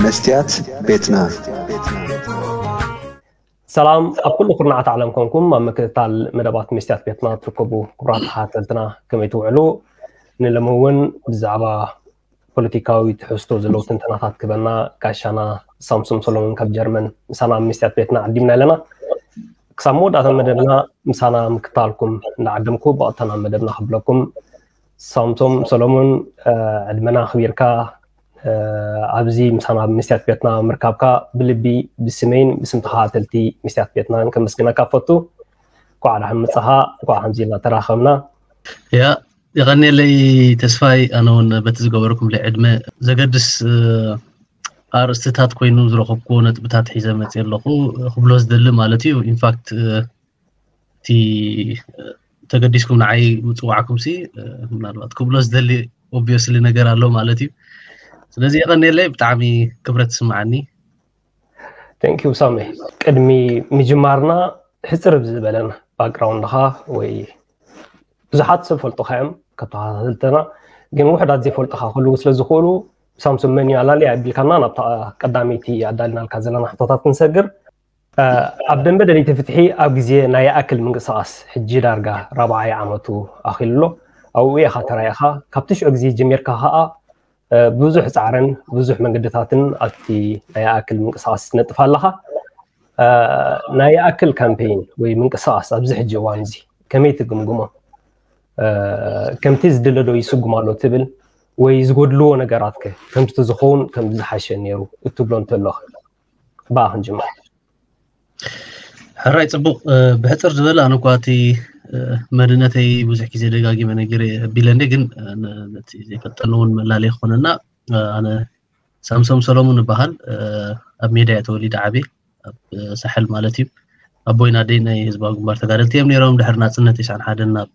መስትያት ቤትና። ሰላም ኣብ ኩሉ ኩርናዓት ዓለም ኮንኩም ኣብ ምክትታል መደባት መስትያት ቤትና ትርከቡ ክቡራት ተኸታተልትና ከመይ ትውዕሉ? ንሎሚ እውን ብዛዕባ ፖለቲካዊ ትሕዝቶ ዘለዉ ትንተናታት ክበና ጋሻና ሳምሶም ሰሎሞን ካብ ጀርመን ምሳና ኣብ መስትያት ቤትና ዓዲምና ኣለና። ክሳብ መወዳእታ መደብና ምሳና ምክታልኩም እንዳዓደምኩ ብቐጥታ ናብ መደብና ክብለኩም። ሳምሶም ሰሎሞን ዕድመና ኣኽቢርካ ኣብዚ ምሳና ኣብ መስትያት ቤትና ምርካብካ ብልቢ ብስመይን ብስም ተኸታተልቲ መስትያት ቤትናን ከመስግነካ ፈቱ። እንኳዕ ደሓን መጻኻ፣ እንኳዕ ከምዚ ኢልና ተራኸብና። ያ የቐንየለይ ተስፋይ፣ ኣነ እውን በቲ ዝገበርኩምለይ ዕድመ ዘገድስ ኣርእስትታት ኮይኑ ዝረኸብኩዎ ነጥብታት ሒዘ መፅእ ኣለኹ ክብሎ ዝደሊ ማለት እዩ። ኢንፋክት እቲ ተገዲስኩም ንዓይ ምፅዋዕኩም ሲ ምናልባት ክብሎ ዝደሊ ኦብቪየስሊ ነገር ኣሎ ማለት እዩ። ስለዚ የቐንየለይ፣ ብጣዕሚ ክብረት ትስምዓኒ። ቴንክ ዩ ሳሚ። ቅድሚ ምጅማርና ሕፅር ብዝበለን ባክግራውንድኻ ወይ ብዙሓት ሰብ ፈልጡኻ እዮም ካብ ተኸታተልትና፣ ግን ውሕዳት ዘይፈልጡኻ ክህልዉ ስለ ዝኽእሉ ሳምሶም መን እዩ ኣላሊ ኣቢልካና ናብታ ቀዳመይቲ ኣዳልናልካ ዘለና ሕቶታት ክንሰግር። ኣብ ደንበ ደለይቲ ፍትሒ ኣብ ግዜ ናይ ይኣክል ምንቅስቓስ ሕጂ ዳርጋ ራብዓይ ዓመቱ ኣኺሉ ኣሎ። ኣብኡ ኢኻ ተራኢኻ። ካብቲ ሽዑ ግዜ ጀሚርካ ኸኣ ብዙሕ ጻዕርን ብዙሕ መንገድታትን ኣብቲ ናይ ይኣክል ምንቅስቓስ ትነጥፍ ኣለኻ። ናይ ይኣክል ካምፔይን ወይ ምንቅስቓስ ኣብዚ ሕጂ እዋን እዚ ከመይ ትግምግሞ? ከምቲ ዝድለ ዶ ይስጉም ኣሎ ትብል ወይ ዝጎድልዎ ነገራት ከ ከምቲ ዝኸውን ከም ዝሓሸ ነይሩ እትብሎ እንተሎ ብኣ ክንጅምር። ሕራይ ጽቡቕ። ብሕጽር ዝበለ ኣነ እኳ እቲ መንነተይ ብዙሕ ግዜ ደጋጊመ ነጊረ ኣቢለ እንደ ግን ነቲ ዘይፈልጠኒ እውን መላለይ ክኾነና። ኣነ ሳምሶም ሰሎሙን እበሃል። ኣብ ሜዳ እየ ተወሊደ ዓብየ፣ ኣብ ሳሕል ማለት እዩ። ኣቦይን ኣደይን ናይ ህዝባዊ ግንባር ተጋደልቲ እዮም ነይሮም። ድሕሪ ናጽነት ተስዓን ሓደን ናብ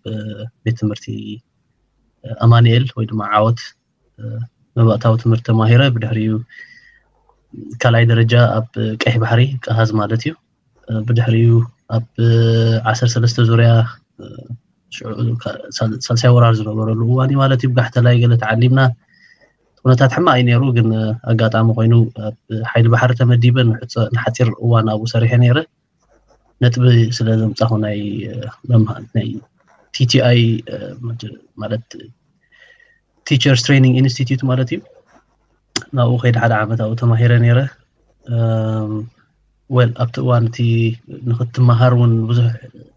ቤት ትምህርቲ ኣማኑኤል ወይ ድማ ዓወት መባእታዊ ትምህርቲ ተማሂረ። ብድሕሪኡ ካልኣይ ደረጃ ኣብ ቀይሕ ባሕሪ ቀሃዝ ማለት እዩ። ብድሕሪኡ ኣብ ዓሰርተ ሰለስተ ዙርያ ሳልሳይ ወራር ዝነበረሉ እዋን እዩ ማለት እዩ። ብጋሕተላይ ገለ ተዓሊምና፣ ኩነታት ሕማቕ እዩ ነይሩ። ግን ኣጋጣሚ ኮይኑ ኣብ ሓይሊ ባሕሪ ተመዲበ ንሓፂር እዋን ኣብኡ ሰሪሐ ነይረ። ነጥቢ ስለ ዘምፃኹ ናይ መምሃር ናይ ቲቲኣይ ማለት ቲቸርስ ትሬኒንግ ኢንስቲትዩት ማለት እዩ። ናብኡ ከይደ ሓደ ዓመት ኣብኡ ተማሂረ ነይረ። ወል ኣብቲ እዋን እቲ ንክትመሃር እውን ብዙሕ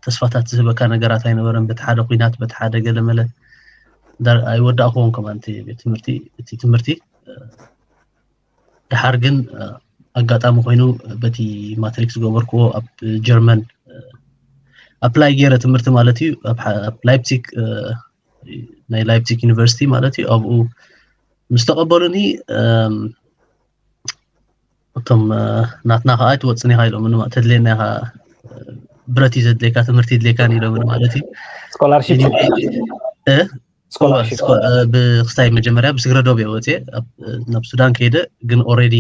ተስፋታት ዝህበካ ነገራት ኣይነበረን። በቲ ሓደ ኩናት በቲ ሓደ ገለመለ ኣይወዳእክዎን ከማን እቲ ቤት ትምህርቲ እቲ ትምህርቲ። ድሓር ግን ኣጋጣሚ ኮይኑ በቲ ማትሪክ ዝገበርክዎ ኣብ ጀርመን ኣፕላይ ገይረ ትምህርቲ ማለት እዩ ኣብ ላይፕሲግ ናይ ላይፕሲግ ዩኒቨርሲቲ ማለት እዩ። ኣብኡ ምስ ተቐበሉኒ እቶም ናትና ከዓ ኣይትወፅን ኢኻ ኢሎምኒ፣ ተድልየና ኢኻ፣ ብረት እዩ ዘድልየካ፣ ትምህርቲ ይድልየካን ኢሎምኒ ማለት እዩ። ስኮላርሽፕ ብክስታይ መጀመርያ ብስግረ ዶብ እየ ወፅየ ናብ ሱዳን ከይደ፣ ግን ኦልሬዲ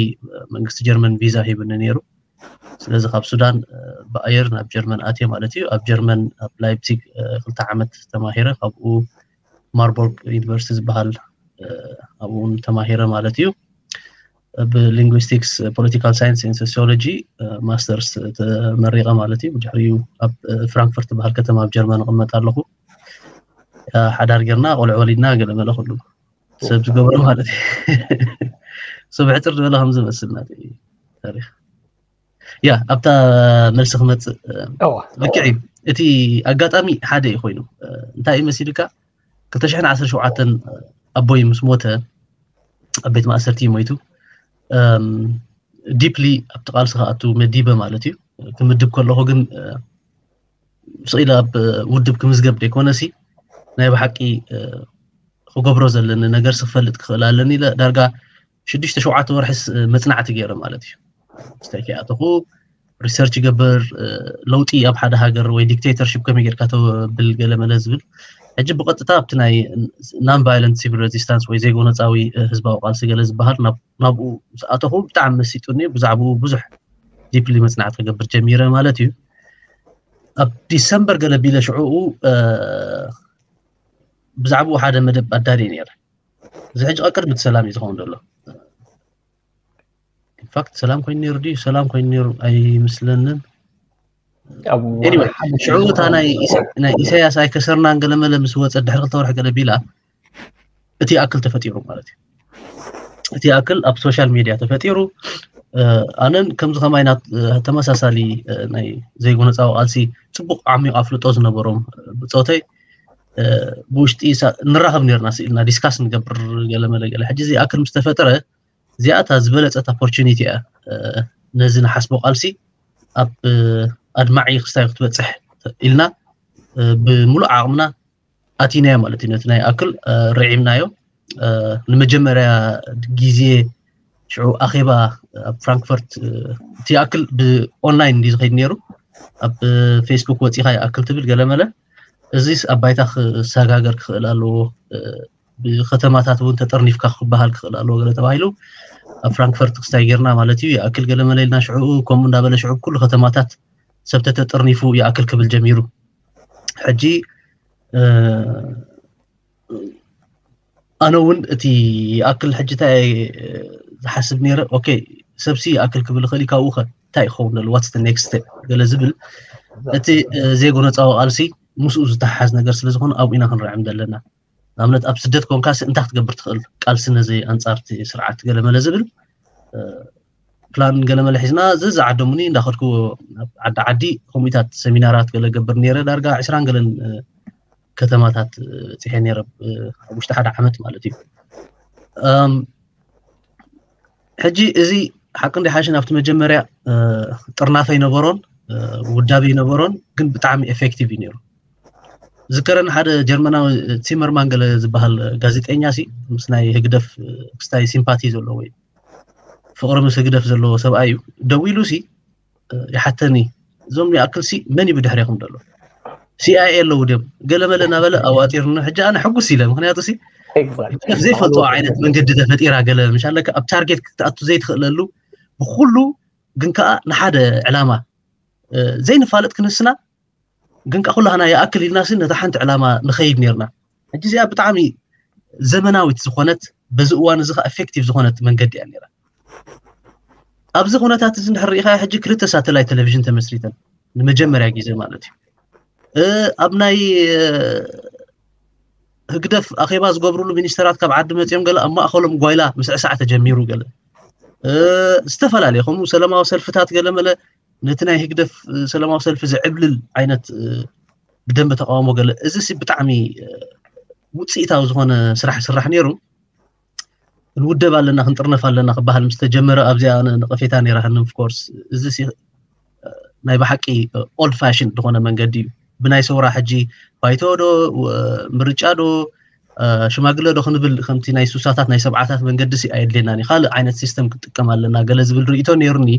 መንግስቲ ጀርመን ቪዛ ሂብኒ ነይሩ። ስለዚ ካብ ሱዳን ብኣየር ናብ ጀርመን ኣትየ ማለት እዩ። ኣብ ጀርመን ኣብ ላይፕሲግ ክልተ ዓመት ተማሂረ፣ ካብኡ ማርቦርግ ዩኒቨርሲቲ ዝበሃል ኣብኡ እውን ተማሂረ ማለት እዩ። ብሊንጉስቲክስ ፖለቲካል ሳይንስ ን ሶሲዮሎጂ ማስተርስ ተመሪቐ ማለት እዩ። ብድሕሪኡ ኣብ ፍራንክፈርት ዝበሃል ከተማ ኣብ ጀርመን እቕመጥ ኣለኹ። ሓዳር ጌርና ቆልዑ ወሊድና ገለ መለ ኩሉ ሰብ ዝገበሮ ማለት እዩ። ሰብ ሕፅር ዝበለ ከም ዝመስል ናተይ ታሪክ። ያ ኣብታ መልሲ ክመፅእ ልክዕ እዩ። እቲ ኣጋጣሚ ሓደ እዩ ኮይኑ እንታይ እዩ መሲልካ ክልተ ሽሕን ዓሰርተ ሸውዓተን ኣቦይ ምስ ሞተ ኣብ ቤት ማእሰርቲ እዩ ሞይቱ። ዲፕሊ ኣብቲ ቃልሲ ክኣቱ መዲበ ማለት እዩ። ክምድብ ከለኹ ግን ስቕ ኢለ ኣብ ውድብ ክምዝገብ ዘይኮነሲ ናይ ብሓቂ ክገብሮ ዘለኒ ነገር ክፈልጥ ክኽእል ኣለኒ ኢለ ዳርጋ ሽዱሽተ ሸውዓተ ወርሕስ መፅናዕቲ ገይረ ማለት እዩ። ስታይ ከይኣተኹ ሪሰርች ይገብር፣ ለውጢ ኣብ ሓደ ሃገር ወይ ዲክቴተርሽፕ ከመይ ጌርካ ተብል ገለ መለ ዝብል። ሕጂ ብቐጥታ ኣብቲ ናይ ናን ቫይለንት ሲቪል ሬዚስታንስ ወይ ዘይጎነፃዊ ህዝባዊ ቃልሲ ገለ ዝበሃል ናብኡ ምስ ኣተኹ ብጣዕሚ መሲጡኒ። ብዛዕባኡ ብዙሕ ዲፕሊ መፅናዕቲ ክገብር ጀሚረ ማለት እዩ። ኣብ ዲሰምበር ገለ ቢለ ሽዑኡ ብዛዕባኡ ሓደ መደብ ኣዳልየ ነይረ። እዚ ሕጂ ቅድሚ እቲ ሰላም እዩ ዝኸውን ዘሎ። ኢንፋክት ሰላም ኮይኑ ነይሩ ድዩ? ሰላም ኮይኑ ነይሩ ኣይመስለንን። Anyway፣ ሽዑ እታ ናይ ኢሳያስ ኣይከሰርናን ገለ መለ ምስ ወፀ ድሕሪ ክልተ ወርሒ ገለ ቢላ እቲ ኣክል ተፈጢሩ ማለት እዩ። እቲ ኣክል ኣብ ሶሻል ሚድያ ተፈጢሩ። ኣነን ከምዚ ከማይ ተመሳሳሊ ናይ ዘይጎነፃዊ ቃልሲ ፅቡቕ ዓሚቕ ኣፍልጦ ዝነበሮም ብፆተይ ብውሽጢ ንራኸብ ነርና ስኢልና ዲስካስ ንገብር ገለ መለ ገለ። ሕጂ እዚ ኣክል ምስ ተፈጠረ እዚኣታ ዝበለፀት ኦፖርቹኒቲ እያ። ነዚ ንሓስቦ ቃልሲ ኣብ ኣድማዒ ክስታይ ክትበፅሕ ኢልና ብምሉእ ዓቕምና ኣቲናዮ ማለት እዩ። ነቲ ናይ ኣክል ርዒምናዮ። ንመጀመርያ ግዜ ሽዑ ኣኼባ ኣብ ፍራንክፈርት እቲ ኣክል ብኦንላይን እንዲ ዝኸይድ ነይሩ። ኣብ ፌስቡክ ወፂኻ ይኣክል ትብል ገለ መለ። እዚስ ኣብ ባይታ ክሰጋገር ክኽእል ኣለዎ፣ ብከተማታት እውን ተጠርኒፍካ ክበሃል ክኽእል ኣለዎ ገለ ተባሂሉ ኣብ ፍራንክፈርት ክስታይ ጌርና ማለት እዩ። ይኣክል ገለ መለ ኢልና ሽዑ ከምኡ እንዳበለ ሽዑ ኩሉ ከተማታት ሰብ ተተጠርኒፉ ይኣክል ክብል ጀሚሩ። ሕጂ ኣነ እውን እቲ ይኣክል ሕጂ እንታይ ዝሓስብ ነይረ፣ ኦኬ ሰብሲ ይኣክል ክብል ይኽእል እዩ፣ ካብኡ ኸ እንታይ ይኸውን ዘሎ፣ ዋትስ ኔክስት ስቴፕ ገለ ዝብል እቲ ዘይጎነፃዊ ቃልሲ ምስኡ ዝተሓሓዝ ነገር ስለ ዝኾነ ኣብኡ ኢና ክንርዕም ዘለና። ንኣብነት ኣብ ስደት ኮንካስ እንታይ ክትገብር ትኽእል ቃልሲ ነዚ ኣንፃርቲ ስርዓት ገለ መለ ዝብል ፕላን ገለ መለ ሒዝና ዘዝዓደሙኒ እንዳኸድኩ ኣብ ዓዲ ዓዲ ከምኡታት ሰሚናራት ገለ ገብር ነይረ። ዳርጋ ዕስራን ገለን ከተማታት በፂሐ ነይረ ኣብ ውሽጢ ሓደ ዓመት ማለት እዩ። ሕጂ እዚ ሓቂ እንዲ ሓሽን ኣብቲ መጀመርያ ጥርናፈ ይነበሮን ውዳበ ይነበሮን፣ ግን ብጣዕሚ ኤፌክቲቭ እዩ ነይሩ። ዝከረን ሓደ ጀርመናዊ ቲመርማን ገለ ዝበሃል ጋዜጠኛ ሲ ምስ ናይ ህግደፍ ክስታይ ሲምፓቲ ዘለዎ እዩ፣ ፍቕሪ ምስ ህግደፍ ዘለዎ ሰብኣይ እዩ። ደዊሉ ሲ ይሓተኒ፣ እዞም ይኣክል ሲ መን እዩ ብድሕሬኹም ዘሎ? ሲኣይኤ ኣለዉ ድዮም? ገለ መለ እናበለ ኣዋጢርኒ። ሕጂ ኣነ ሕጉስ ኢለ፣ ምክንያቱ ሲ ዘይፈልጥዎ ዓይነት መንገዲ ተፈጢራ ገለ ምሻለካ ኣብ ታርጌት ክትኣቱ ዘይትኽእለሉ ብኩሉ ግን ከዓ ንሓደ ዕላማ ዘይንፋለጥ ክንስና ግን ከዓ ኩላህና ይኣክል ኢልና ሲ ነታ ሓንቲ ዕላማ ንኸይድ ነርና። ሕጂ እዚኣ ብጣዕሚ ዘመናዊት ዝኾነት በዚ እዋን እዚ ከዓ ኤፌክቲቭ ዝኾነት መንገዲ እያ ነራ። ኣብዚ ኩነታት እዚ እንድሕር ርኢኻ ሕጂ ክልተ ሳተላይት ቴሌቪዥን ተመስሪተን ንመጀመርያ ግዜ ማለት እዩ። ኣብ ናይ ህግደፍ ኣኼባ ዝገብርሉ ሚኒስተራት ካብ ዓዲ መፅኦም ገለ ኣብ ማእኸሎም ጓይላ ምስዕሳዕ ተጀሚሩ ገለ ዝተፈላለየ ከምኡ ሰላማዊ ሰልፍታት ገለ መለ ነቲ ናይ ህግደፍ ሰላማዊ ሰልፊ ዝዕብልል ዓይነት ብደንበ ተቃውሞ ገለ እዚ ሲ ብጣዕሚ ውፅኢታዊ ዝኾነ ስራሕ ስራሕ ነይሩ። ክንውደብ ኣለና ክንጥርነፍ ኣለና ክበሃል ምስ ተጀመረ ኣብዚኣ ኣነ ነቐፌታ ነይራሃኒ። ኦፍኮርስ እዚ ሲ ናይ ብሓቂ ኦልድ ፋሽን ዝኾነ መንገዲ እዩ። ብናይ ሰውራ ሕጂ ባይቶ ዶ ምርጫ ዶ ሽማግለ ዶ ክንብል ከምቲ ናይ ሱሳታት ናይ ሰብዓታት መንገዲ ሲ ኣየድልየናን እዩ። ካልእ ዓይነት ሲስተም ክንጥቀም ኣለና ገለ ዝብል ርእይቶ ነይሩኒ።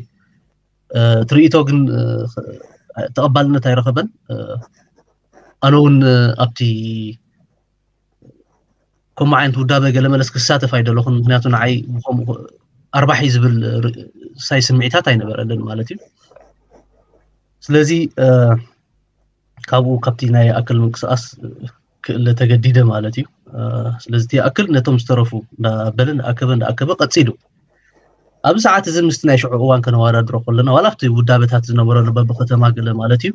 እቲ ርእይቶ ግን ተቐባልነት ኣይረኸበን። ኣነ እውን ኣብቲ ከምኡ ዓይነት ውዳበ ገለ መለስ ክሳተፍ ኣይደለኹን። ምክንያቱ ንዓይ ብከምኡ ኣርባሒ ዝብል ሳይ ስምዒታት ኣይነበረልን ማለት እዩ። ስለዚ ካብኡ ካብቲ ናይ ኣክል ምንቅስቃስ ክእለ ተገዲደ ማለት እዩ። ስለዚ እቲ ኣክል ነቶም ዝተረፉ እንዳበለ እንዳኣከበ እንዳኣከበ ቀፂሉ። ኣብዚ ሰዓት እዚ ምስቲ ናይ ሽዑ እዋን ከነወዳድሮ ከለና ዋላ ኣብቲ ውዳበታት ዝነበረሉ በብከተማ ገለ ማለት እዩ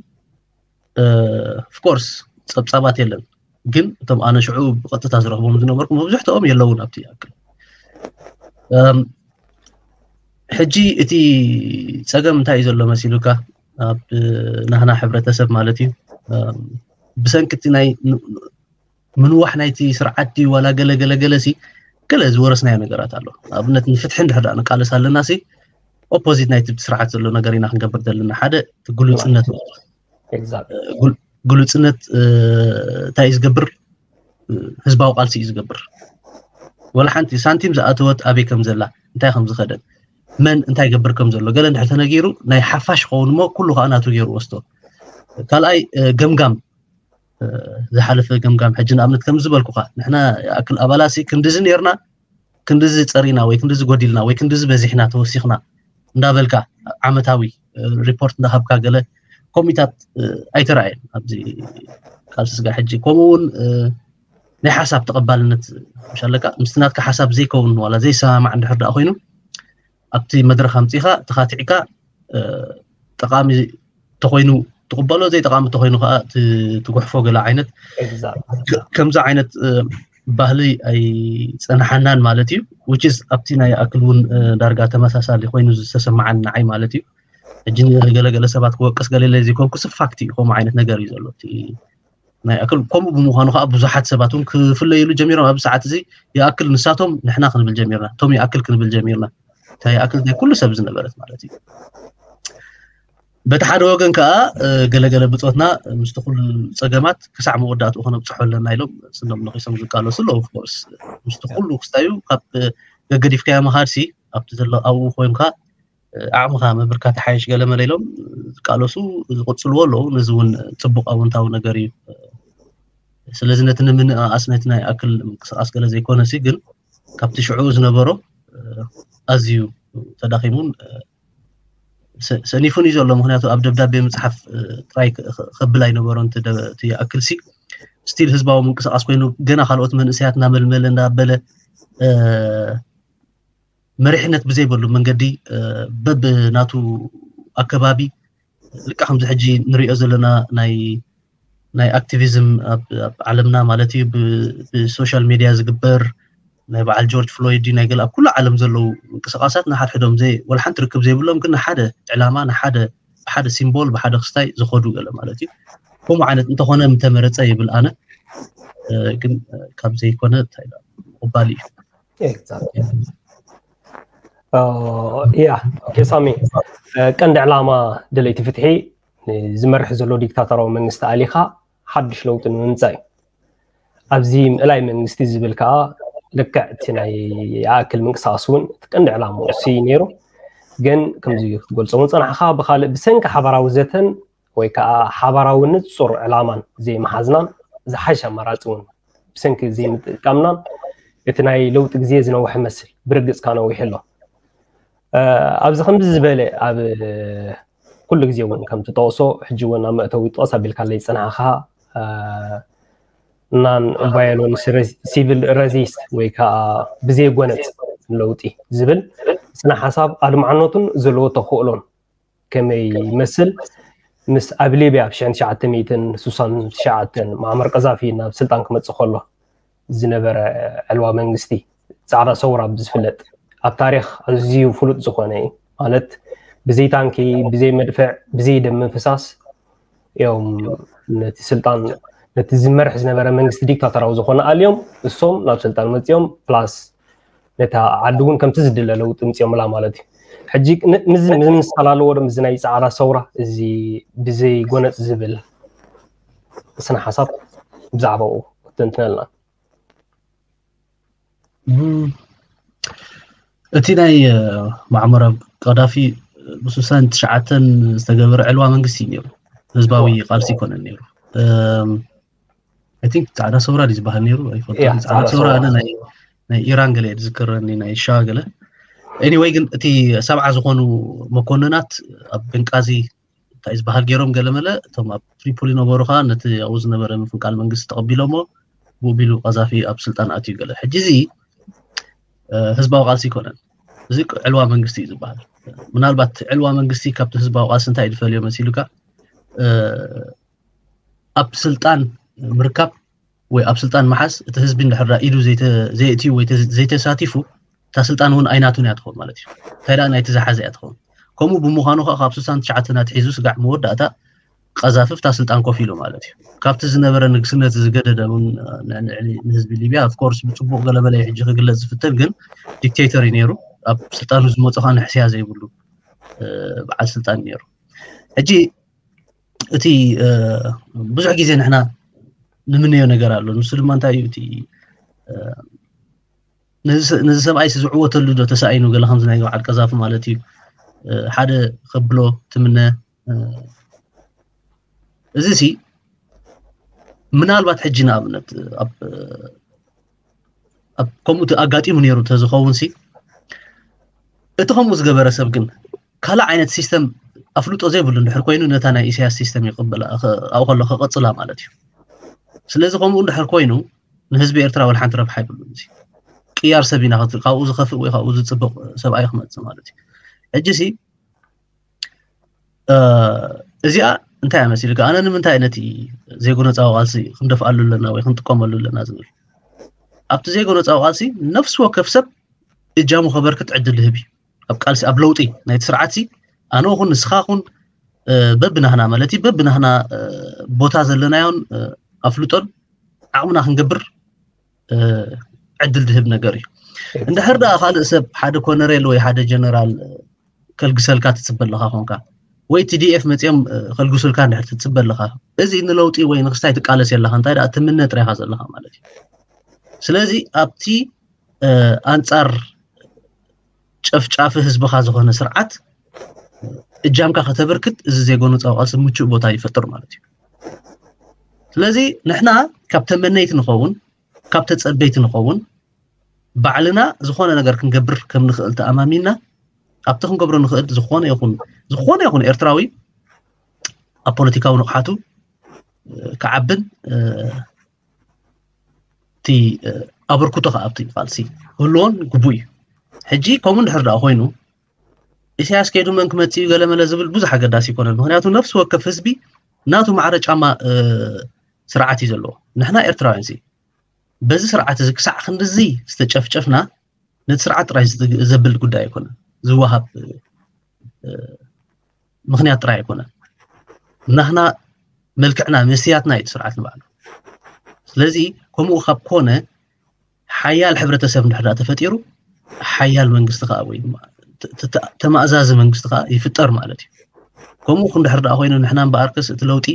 ኦፍኮርስ ፀብፃባት የለን፣ ግን እቶም ኣነ ሽዑ ብቐጥታ ዝረኽቦም ዝነበርኩ መብዝሕትኦም የለውን ኣብቲ ኣክል። ሕጂ እቲ ፀገም እንታይ እዩ ዘሎ መሲሉካ ኣብ ናህና ሕብረተሰብ ማለት እዩ ብሰንኪ እቲ ናይ ምንዋሕ ናይቲ ስርዓት ድዩ ዋላ ገለ ገለ ገለ ሲ ገለ ዝወረስናዮ ነገራት ኣሎ። ኣብነት ንፍትሒ እንድሕር ደኣ ንቃለስ ኣለና ሲ ኦፖዚት ናይቲ ስርዓት ዘሎ ነገር ኢና ክንገብር ዘለና። ሓደ ግሉፅነት ግሉፅነት እንታይ እዩ ዝገብር? ህዝባዊ ቃልሲ እዩ ዝገብር። ወላ ሓንቲ ሳንቲም ዝኣተወት ኣበይ ከም ዘላ እንታይ ከም ዝኸደት መን እንታይ ገብር ከም ዘሎ ገለ እንድሕር ተነጊሩ ናይ ሓፋሽ ይኸውን እሞ ኩሉ ከዓ ናቱ ገይሩ ወስዶ። ካልኣይ ገምጋም ዝሓለፈ ገምጋም ሕጂ ንኣብነት ከም ዝበልኩኻ ንሕና ይኣክል ኣባላሲ ክንድዚ ነርና ክንድዚ ፀሪና ወይ ክንድዚ ጎዲልና ወይ ክንድዚ በዚሕና ተወሲኽና እንዳበልካ ዓመታዊ ሪፖርት እንዳሃብካ ገለ ኮሚታት ኣይተረኣየን ኣብዚ ቃልሲ ስጋ ሕጂ ከምኡ እውን ናይ ሓሳብ ተቐባልነት ምሻለካ ምስቲ ናትካ ሓሳብ ዘይከውን ዋላ ዘይሰማማዕ እንድሕር ደኣ ኮይኑ ኣብቲ መድረኽ ኣምፂኻ ተኻቲዕካ ጠቃሚ ተኮይኑ ትቕበሎ፣ ዘይጠቃሚ ተኮይኑ ከዓ ትጉሕፎ ገለ ዓይነት ከምዚ ዓይነት ባህሊ ኣይፀናሓናን ማለት እዩ። Which is ኣብቲ ናይ ኣክል እውን ዳርጋ ተመሳሳሊ ኮይኑ ዝተሰማዓን ንዓይ ማለት እዩ። ሕጂ ገለገለ ሰባት ክወቅስ ገለለ ዘይኮንኩ ስፋክቲ ከምኡ ዓይነት ነገር እዩ ዘሎ። ናይ ኣክል ከምኡ ብምዃኑ ከዓ ብዙሓት ሰባት እውን ክፍለይሉ ጀሚሮም። ኣብ ሰዓት እዚ ይኣክል ንሳቶም ንሕና ክንብል ጀሚርና፣ እቶም ይኣክል ክንብል ጀሚርና። እንታይ ይኣክል ናይ ኩሉ ሰብ ዝነበረት ማለት እዩ። በቲ ሓደ ወገን ከዓ ገለገለ ብፆትና ምስቲ ኩሉ ፀገማት ክሳዕ መወዳእትኡ ክነብፅሖ ኣለና ኢሎም ስኖም ነኪሶም ዝቃለሱ ኣለዉ። Of course ምስቲ ኩሉ ክስታዩ ካብ ገገዲፍካዮ ምኻድሲ ኣብቲ ዘሎ ኣብኡ ኮይንካ ዓቕምኻ ምብርካት ሓይሽ ገለ መለ ኢሎም ዝቃለሱ ዝቕፅልዎ ኣለዉ። ነዚ እውን ፅቡቕ ኣወንታዊ ነገር እዩ። ስለዚ ነቲ ንምንእኣስ ነቲ ናይ ኣክል ምንቅስቃስ ገለ ዘይኮነሲ ግን ካብቲ ሽዑ ዝነበሮ ኣዝዩ ተዳኺሙን ሰኒፉን እዩ ዘሎ። ምክንያቱ ኣብ ደብዳቤ ምፅሓፍ ጥራይ ከብል ኣይነበሮን። ይኣክል ሲ ስቲል ህዝባዊ ምንቅስቃስ ኮይኑ ገና ካልኦት መንእሰያት እናመልመለ እንዳበለ መሪሕነት ብዘይበሉ መንገዲ በብ ናቱ ኣከባቢ ልካ ከምዚ ሕጂ ንሪኦ ዘለና ናይ ናይ ኣክቲቪዝም ኣብ ዓለምና ማለት እዩ ብሶሻል ሚድያ ዝግበር ናይ በዓል ጆርጅ ፍሎይድ ናይ ገለ ኣብ ኩሉ ዓለም ዘለዉ ምንቅስቃሳት ንሓድሕዶም ዘይ ወላ ሓንቲ ርክብ ዘይብሎም ግን ንሓደ ዕላማ ንሓደ ብሓደ ሲምቦል ብሓደ ክስታይ ዝኸዱ ገለ ማለት እዩ። ከምኡ ዓይነት እንተኾነ ምተመረፀ ይብል ኣነ። ግን ካብ ዘይኮነ እንታይ ምቕባል እዩ። ያ ኦኬ ሳሚ፣ ቀንዲ ዕላማ ደለይቲ ፍትሒ ዝመርሕ ዘሎ ዲክታቶራዊ መንግስቲ ኣሊኻ ሓድሽ ለውጢ ንምምፃእ እዩ። ኣብዚ ምእላይ መንግስቲ ዝብል ከዓ ልክዕ እቲ ናይ ኣክል ምንቅስቃስ እውን እቲ ቀንዲ ዕላማ እሱ እዩ ነይሩ። ግን ከምዚ ክትገልፆ እውን ፀናሕካ ብካልእ ብሰንኪ ሓባራዊ ዘተን ወይ ከዓ ሓባራዊ ንፁር ዕላማን ዘይመሓዝናን ዝሓሽ ኣማራፂ እውን ብሰንኪ ዘይምጥቃምናን እቲ ናይ ለውጢ ግዜ ዝነውሐ መስል ብርግፅካ ነዊሑ ኣሎ። ኣብዚ ከምዚ ዝበለ ኣብ ኩሉ ግዜ እውን ከም ትጠቕሶ ሕጂ እውን ኣብ መእተዊ ጠቕስ ኣቢልካለይ ዝፀናሕካ ናን ቫዮለንስ ሲቪል ረዚስት ወይ ከዓ ብዘይጎነፅ ለውጢ ዝብል ስነ ሓሳብ ኣድማዕነቱን ዘለዎ ተኽእሎን ከመይ ይመስል? ምስ ኣብ ሊብያ ኣብ ሽሕን ትሽዓተ ሚእትን ስሳን ትሽዓተን ማዕመር ቀዛፊ ናብ ስልጣን ክመፅእ ከሎ ዝነበረ ዕልዋ መንግስቲ ፃዕዳ ሰውራ ብዝፍለጥ ኣብ ታሪክ ኣዝዩ ፍሉጥ ዝኾነ እዩ። ማለት ብዘይ ታንኪ፣ ብዘይ መድፍዕ፣ ብዘይ ደም ምፍሳስ እዮም ነቲ ስልጣን ነቲ ዝመርሕ ዝነበረ መንግስቲ ዲክታተራዊ ዝኾነ ኣልዮም እሶም ናብ ስልጣን መፅኦም ፕላስ ነታ ዓዲ እውን ከምቲ ዝድለ ለውጢ ምፅኦምላ ማለት እዩ። ሕጂ ምሳላለዎ ዶ ምዚ ናይ ፃዕዳ ሰውራ እዚ ብዘይ ጎነፅ ዝብል ስነ ሓሳብ ብዛዕባኡ ክትንትነልና። እቲ ናይ ማዕመር ቀዳፊ ብስሳን ትሽዓተን ዝተገበረ ዕልዋ መንግስቲ እዩ ነይሩ። ህዝባዊ ቃልሲ ይኮነን ነይሩ። I think ፃዕዳ ሰውራ ዝበሃል ነይሩ ኣይፈልጥን። ፃዕዳ ሰውራ ኣነ ናይ ኢራን ገለ ዝዝክረኒ ናይ ሻ ገለ anyway ግን እቲ ሰብዓ ዝኾኑ መኮንናት ኣብ ብንቃዚ እንታይ ዝበሃል ገይሮም ገለመለ እቶም ኣብ ትሪፖሊ ነበሩ ከዓ ነቲ ኣብኡ ዝነበረ ምፍንቃል መንግስቲ ተቐቢሎሞ ብኡ ቢሉ ቀዛፊ ኣብ ስልጣን ኣትዩ ገለ። ሕጂ እዚ ህዝባዊ ቃልሲ ይኮነን። እዚ ዕልዋ መንግስቲ እዩ ዝበሃል። ምናልባት ዕልዋ መንግስቲ ካብቲ ህዝባዊ ቃልሲ እንታይ ዝፈልዮ መሲሉካ? ኣብ ስልጣን ምርካብ ወይ ኣብ ስልጣን መሓዝ እቲ ህዝቢ እንድሕር ኢዱ ዘየእትዩ ወይ ዘይተሳቲፉ እታ ስልጣን እውን ኣይናቱን እያ ትኸውን ማለት እዩ። እንታይ ደኣ ናይቲ ዝሓዘ እያ ትኸውን። ከምኡ ብምዃኑ ከዓ ካብ ስሳን ትሽዓተን ኣትሒዙ ስጋዕ መወዳእታ ቀዛፊ ኣብታ ስልጣን ኮፍ ኢሉ ማለት እዩ። ካብቲ ዝነበረ ንግስነት ዝገደደ እውን ንዕሊ ንህዝቢ ሊብያ of course ብፅቡቕ ገለመለ ሕጂ ክግለፅ ዝፍተን ግን ዲክቴተር እዩ ነይሩ። ኣብ ስልጣኑ ዝመፁ ከዓ ንሕስያ ዘይብሉ በዓል ስልጣን ነይሩ። ሕጂ እቲ ብዙሕ ግዜ ንሕና ንምነዮ ነገር ኣሎ። ንሱ ድማ እንታይ እዩ እቲ ነዚ ሰብኣይ ዝዕወተሉ ዶ ተሳኢኑ ገለ ከምዚ ናይ በዓል ቀዛፊ ማለት እዩ ሓደ ከብሎ ትምነ። እዚ ሲ ምናልባት ሕጂ ንኣብነት ኣብ ከምኡ ኣጋጢሙ ነይሩ ተዝኸውን ሲ እቲ ከምኡ ዝገበረ ሰብ ግን ካልእ ዓይነት ሲስተም ኣፍልጦ ዘይብሉ እንድሕር ኮይኑ ነታ ናይ ኢሳያስ ሲስተም ይቕበላ ኣብኡ ከሎ ክቐፅላ ማለት እዩ። ስለዚ ከምኡ እንድሕር ኮይኑ ንህዝቢ ኤርትራ ወላ ሓንቲ ረብሓ ኣይብሉን። እዚ ቅያር ሰብ ኢና ክትርኢ፣ ካብኡ ዝኸፍእ ወይ ካብኡ ዝፅብቕ ሰብኣይ ክመፅእ ማለት እዩ። ሕጂ ሲ እዚኣ እንታይ እያ መሲልካ? ኣነ ንምንታይ ነቲ ዘይጎነፃዊ ቃልሲ ክንደፍኣሉ ኣለና ወይ ክንጥቀመሉ ኣለና ዝብል፣ ኣብቲ ዘይጎነፃዊ ቃልሲ ነፍሲ ወከፍ ሰብ እጃሙ ከበርክት ዕድል ዝህብ እዩ። ኣብ ቃልሲ፣ ኣብ ለውጢ ናይቲ ስርዓት ሲ ኣነ ኹን ንስኻ ኹን በብናህና ማለት እዩ፣ በብናህና ቦታ ዘለናዮን ኣፍልጦን ዓቕምና ክንገብር ዕድል ዝህብ ነገር እዩ። እንድሕር ደኣ ካልእ ሰብ ሓደ ኮነሬል ወይ ሓደ ጀነራል ከልግሰልካ ትፅበ ኣለኻ ኮንካ፣ ወይ ቲ ዲ ኤፍ መፂኦም ከልግሱልካ እንድሕር ትፅበ ኣለኻ፣ እዚ ንለውጢ ወይ ንክስታይ ትቃለስ የለኻ፣ እንታይ ደኣ ትምነ ጥራይኻ ዘለኻ ማለት እዩ። ስለዚ ኣብቲ ኣንፃር ጨፍጫፊ ህዝብኻ ዝኾነ ስርዓት እጃምካ ከተበርክት እዚ ዘይጎነፃዊ ቃልሲ ምቹእ ቦታ ይፈጥር ማለት እዩ። ስለዚ ንሕና ካብ ተመነይቲ ንኸውን፣ ካብ ተፀበይቲ ንኸውን፣ ባዕልና ዝኾነ ነገር ክንገብር ከም ንኽእል ተኣማሚንና ኣብቲ ክንገብሮ ንኽእል ዝኾነ ይኹን፣ ዝኾነ ይኹን ኤርትራዊ ኣብ ፖለቲካዊ ንቕሓቱ ክዓብን እቲ ኣበርክቶ ከዓ ኣብቲ ቃልሲ ክህልዎን ግቡእ እዩ። ሕጂ ከምኡ እንድሕር ደኣ ኮይኑ ኢሳያስ ከይዱ መን ክመፅእ እዩ ገለመለ ዝብል ብዙሕ ኣገዳሲ ይኮነን። ምክንያቱ ነፍሲ ወከፍ ህዝቢ ናቱ ማዕረ ጫማ ስርዓት እዩ ዘለዎ። ንሕና ኤርትራውያን ሲ በዚ ስርዓት እዚ ክሳዕ ክንድዚ ዝተጨፍጨፍና ነቲ ስርዓት ጥራይ ዘብል ጉዳይ ኣይኮነን። ዝወሃብ ምክንያት ጥራይ ኣይኮነን። ናህና መልክዕና መስትያትና እዩ እቲ ስርዓት ንባዕሉ። ስለዚ ከምኡ ካብ ኮነ ሓያል ሕብረተሰብ እንድሕር ተፈጢሩ ሓያል መንግስቲ ከዓ ወይ ተማእዛዚ መንግስቲ ከዓ ይፍጠር ማለት እዩ። ከምኡ እንድሕር ደኣ ኮይኑ ንሕና እምበኣርከስ እቲ ለውጢ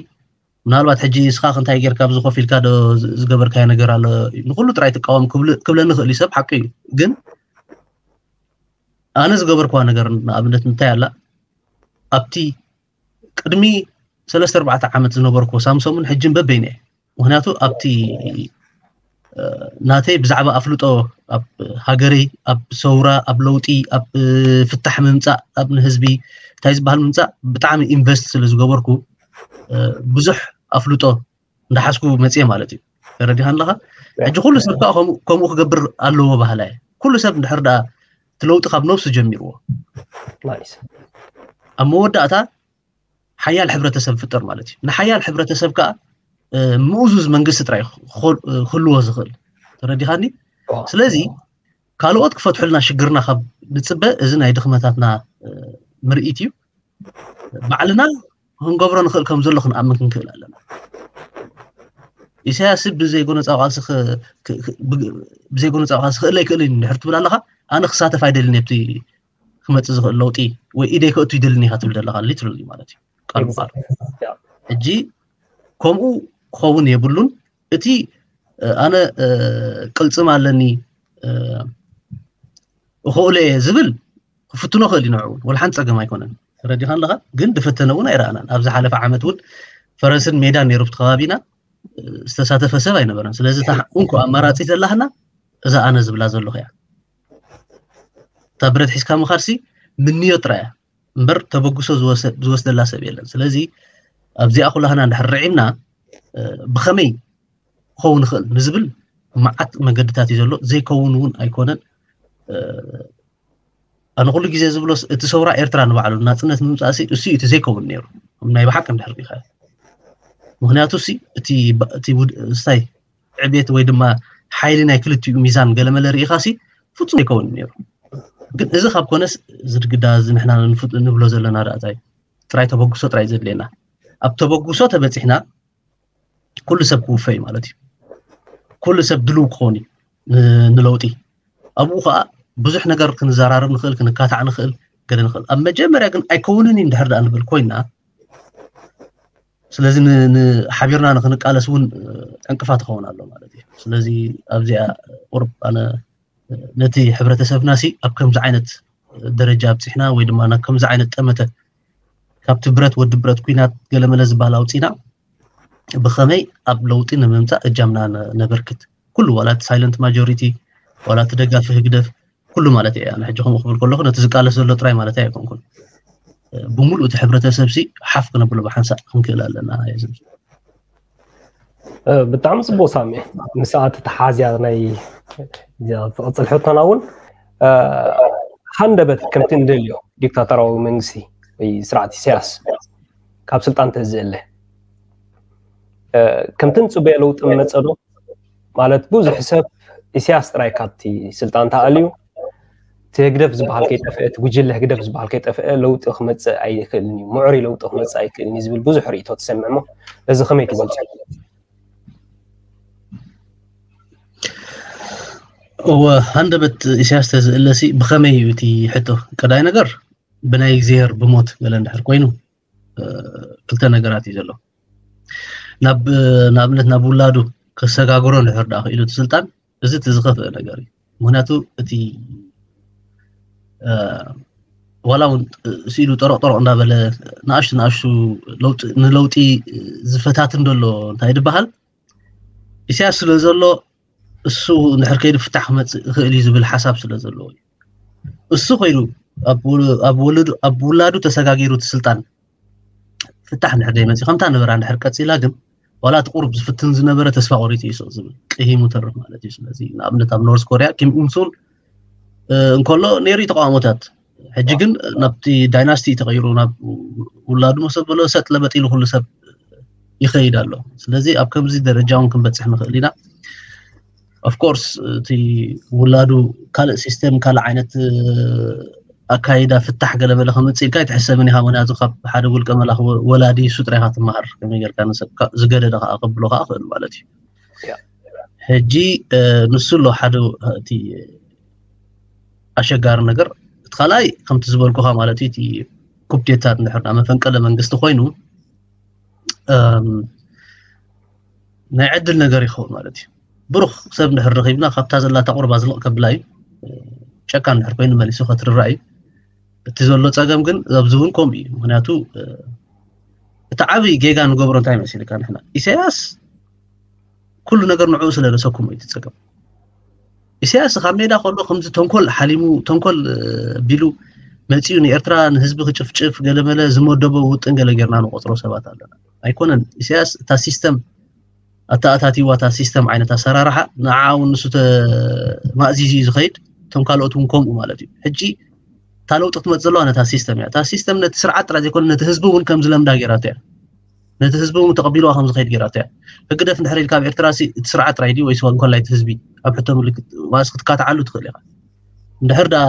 ምናልባት ሕጂ ንስኻ ክንታይ ጌርካ ኣብዚ ኮፍ ኢልካ ዶ ዝገበርካዮ ነገር ኣሎ ንኩሉ ጥራይ ትቃወም ክብለኒ ይኽእል እዩ ሰብ ሓቂ እዩ። ግን ኣነ ዝገበርክዋ ነገር ንኣብነት እንታይ ኣላ ኣብቲ ቅድሚ ሰለስተ ኣርባዕተ ዓመት ዝነበርኩ ሳምሶምን ሕጅን በበይነ እየ። ምክንያቱ ኣብቲ ናተይ ብዛዕባ ኣፍልጦ ኣብ ሃገረይ ኣብ ሰውራ ኣብ ለውጢ ኣብ ፍታሕ ምምፃእ ኣብ ንህዝቢ እንታይ ዝበሃል ምምፃእ ብጣዕሚ ኢንቨስት ስለ ዝገበርኩ ብዙሕ ኣፍልጦ እንዳሓዝኩ መፅየ ማለት እዩ። ተረዲኻ ኣለኻ? ሕጂ ኩሉ ሰብ ከዓ ከምኡ ክገብር ኣለዎ ባህላ እየ። ኩሉ ሰብ እንድሕር ደኣ እቲ ለውጢ ካብ ነብሱ ጀሚርዎ ኣብ መወዳእታ ሓያል ሕብረተሰብ ፍጠር ማለት እዩ። ንሓያል ሕብረተሰብ ከዓ ምእዙዝ መንግስቲ ጥራይ ክህልዎ ዝኽእል። ተረዲኻኒ? ስለዚ ካልኦት ክፈትሑልና ሽግርና ካብ ንፅበ እዚ ናይ ድኽመታትና ምርኢት እዩ። ባዕልና ክንገብሮ ንኽእል ከም ዘሎ ክንኣምን ክንክእል ኣለና። ኢሳያስ ብዘይጎነፃዊ ቃልሲ ብዘይጎነፃዊ ቃልሲ ክእል ኣይክእልን እንድሕር ትብል ኣለኻ ኣነ ክሳተፍ ኣይደልን ኣብቲ ክመፅእ ዝኽእል ለውጢ ወይ ኢደይ ከእቱ ይደልን ኢኻ ትብል ዘለኻ ሊትራሊ ማለት እዩ። ቃል ብቃል ሕጂ ከምኡ ክኸውን የብሉን። እቲ ኣነ ቅልፅም ኣለኒ እኽእሎ እየ ዝብል ክፍትኖ ክእል እዩ ንዕኡ እውን ወላ ሓንቲ ፀገም ኣይኮነን። ተረዲኻ ኣለኻ? ግን ዝፈተነ እውን ኣይረኣናን። ኣብ ዝሓለፈ ዓመት እውን ፈረስን ሜዳን ነይሩ ኣብቲ ከባቢና ዝተሳተፈ ሰብ ኣይነበረን። ስለዚ እታ እንኮ ኣማራፂ ዘላህና እዛ ኣነ ዝብላ ዘለኹ እያ። እታ ብረት ሒዝካ ምኻድሲ ምንዮ ጥራይ እያ እምበር ተበግሶ ዝወስደላ ሰብ የለን። ስለዚ ኣብዚኣ ኩላህና እንድሕር ርዒምና ብኸመይ ክኸውን ይኽእል ንዝብል መዓት መገድታት እዩ ዘሎ። ዘይከውን እውን ኣይኮነን። ኣነ ኩሉ ግዜ ዝብሎስ እቲ ሰውራ ኤርትራ ንባዕሉ ናፅነት ንምምፃእ እሱ እቲ ዘይከውን ነይሩ ናይ ብሓቂ እንድሕር ሪኢኻ። ምክንያቱ ሲ እቲ ስታይ ዕቤት ወይ ድማ ሓይሊ ናይ ክልቲኡ ሚዛን ገለመለ ርኢኻ ሲ ፍፁም ዘይከውን ነይሩ። ግን እዚ ካብ ኮነስ ዝድግዳ እዚ ንሕና ንብሎ ዘለና ዳእታይ ጥራይ ተበግሶ ጥራይ ዘድልየና። ኣብ ተበግሶ ተበፂሕና ኩሉ ሰብ ክውፈ እዩ ማለት እዩ። ኩሉ ሰብ ድልው ክኸውን እዩ ንለውጢ። ኣብኡ ከዓ ብዙሕ ነገር ክንዘራረብ ንኽእል፣ ክንካታዕ ንኽእል፣ ገለ ንኽእል። ኣብ መጀመርያ ግን ኣይከውንን እዩ እንድሕር ደኣ ንብል ኮይና ስለዚ ንሓቢርና ንክንቃለስ እውን ዕንቅፋት ይኸውን ኣሎ ማለት እዩ። ስለዚ ኣብዚኣ ቁርብ ኣነ ነቲ ሕብረተሰብና ሲ ኣብ ከምዚ ዓይነት ደረጃ ኣብፂሕና ወይ ድማ ናብ ከምዚ ዓይነት ጠመተ ካብቲ ብረት ወዲ ብረት ኩናት ገለመለ ዝበሃል ኣውፂና ብኸመይ ኣብ ለውጢ ንምምፃእ እጃምና ነበርክት ኩሉ ዋላ እቲ ሳይለንት ማጆሪቲ ዋላ እቲ ደጋፊ ህግደፍ ኩሉ ማለት እየ። ኣነ ሕጂ ከምኡ ክብል ከለኹ ነቲ ዝቃለስ ዘሎ ጥራይ ማለት ኣይኮንኩን። ብምሉእ እቲ ሕብረተሰብ ሲ ሓፍ ክነብሎ ብሓንሳእ ክንክእል ኣለና። ብጣዕሚ ፅቡቅ ሳሚ፣ ምስኣ ተተሓዝያ ናይ እዚኣ ትቕፅል ሕቶና እውን ሃንደበት ከምቲ እንደልዮ ዲክታተራዊ መንግስቲ ወይ ስርዓት ኢሳያስ ካብ ስልጣን ተዝእለ ከምቲ ንፅበዮ ለውጢ መፀ ዶ? ማለት ብዙሕ ሰብ ኢሳያስ ጥራይ ካብቲ ስልጣን ተኣልዩ እቲ ህግደፍ ዝበሃል ከይጠፍአ እቲ ጉጅለ ህግደፍ ዝበሃል ከይጠፍአ ለውጢ ክመፅእ ኣይክእልን እዩ፣ ምዕሩይ ለውጢ ክመፅእ ኣይክእልን እዩ ዝብል ብዙሕ ርእይቶ ትሰምዕ እሞ እዚ ከመይ ትገልፆ? እወ ሃንደበት ኢሳያስ ተዝእለሲ ብኸመይ እዩ እቲ ሕቶ? ቀዳይ ነገር ብናይ እግዚኣብሔር ብሞት ገለ እንድሕር ኮይኑ ክልተ ነገራት እዩ ዘሎ። ናብ ንኣብነት ናብ ውላዱ ከሰጋግሮ እንድሕር ደኣ ክኢሉ እቲ ስልጣን እዚ እቲ ዝኸፍአ ነገር እዩ። ምክንያቱ እቲ ዋላ እውን ስኢሉ ጠረቕ ጠረቕ እንዳበለ ንኣሽቱ ንኣሽቱ ንለውጢ ዝፈታትን ዘሎ እንታይ ዝበሃል ኢሳያስ ስለ ዘሎ እሱ እንድሕር ከይዱ ፍታሕ ክመፅእ ይኽእል እዩ ዝብል ሓሳብ ስለ ዘለዎ እዩ። እሱ ኮይኑ ኣብ ውላዱ ተሰጋጊሩ እቲ ስልጣን ፍታሕ እንድሕር ዘይመፅእ ከምታ ነበራ እንድሕር ቀፂላ ግን ዋላ እቲ ቁሩብ ዝፍትን ዝነበረ ተስፋ ቆሪፁ እዩ ስቕ ዝብል ቅሂሙ ተርፍ ማለት እዩ። ስለዚ ንኣብነት ኣብ ኖርዝ ኮርያ ኪም ኡንሱን እንከሎ ነይሩ ተቃውሞታት ሕጂ ግን ናብቲ ዳይናስቲ ተቐይሩ ናብ ውላዱ መሰበሎ ሰጥ ለበጥ ኢሉ ኩሉ ሰብ ይኸይድ ኣሎ። ስለዚ ኣብ ከምዚ ደረጃ እውን ክንበፅሕ ንኽእል ኢና። ኦፍኮርስ እቲ ውላዱ ካልእ ሲስተም ካልእ ዓይነት ኣካይዳ ፍታሕ ገለመለ ከምፅእ ኢልካ ኣይትሕሰብን ኢኻ። ምክንያቱ ካብ ሓደ ውልቀ መላኽ ወላዲ እሱ ጥራይ ኢኻ ትመሃር። ከመይ ጌርካ ንሰብ ዝገደደ ከዓ ከብሎ ከዓ ክእል ማለት እዩ። ሕጂ ንሱ ኣሎ ሓደ እቲ ኣሸጋሪ ነገር እቲ ካልኣይ ከምቲ ዝበልኩኻ ማለት እዩ እቲ ኩፕዴታ እንድሕር መፈንቀለ መንግስቲ ኮይኑ ናይ ዕድል ነገር ይኸውን ማለት እዩ። ብሩኽ ሰብ እንድሕር ረኺብና ካብታ ዘላታ ቁርባ ዝልቕ ከብላ እዩ። ጨካን እንድሕር ኮይኑ መሊሱ ከትርራ እዩ። እቲ ዘሎ ፀገም ግን ኣብዚ እውን ከምኡ እዩ። ምክንያቱ እቲ ዓብይ ጌጋ ንገብሮ እንታይ መሲልካ ንሕና ኢሳያስ ኩሉ ነገር ንዕኡ ስለ ዘሰኩሞ እዩ እቲ ፀገም። ኢሳያስ ካብ ሜዳ ከሎ ከምዚ ተንኮል ሓሊሙ ተንኮል ቢሉ መፂኡ ንኤርትራ ንህዝቢ ክጭፍጭፍ ገለመለ ዝመደቦ ውጥን ገለ ጌርና ንቆፅሮ ሰባት ኣለና። ኣይኮነን ኢሳያስ እታ ሲስተም ኣተኣታቲዋ እታ ሲስተም ዓይነት ኣሰራርሓ ንዓ እውን ንሱ ተማእዚዙ እዩ ዝኸይድ። እቶም ካልኦት እውን ከምኡ ማለት እዩ። ሕጂ እታ ለውጢ ክትመፅ ዘለዋ ነታ ሲስተም እያ። እታ ሲስተም ነቲ ስርዓት ጥራይ ዘይኮነ ነቲ ህዝቢ እውን ከም ዝለምዳ ጌራቶ እያ። ነቲ ህዝቢ እውን ተቐቢልዋ ከም ዝኸይድ ጌራቶ እያ። ህግደፍ እንድሕር ኢልካ ኣብ ኤርትራ ሲ እቲ ስርዓት ጥራይ ድዩ ወይስ እንኮላይ እቲ ህዝቢ ኣብ ሕቶ ምልክት ማለት ክትካትዓሉ ትኽእል ኢኻ። እንድሕር ደኣ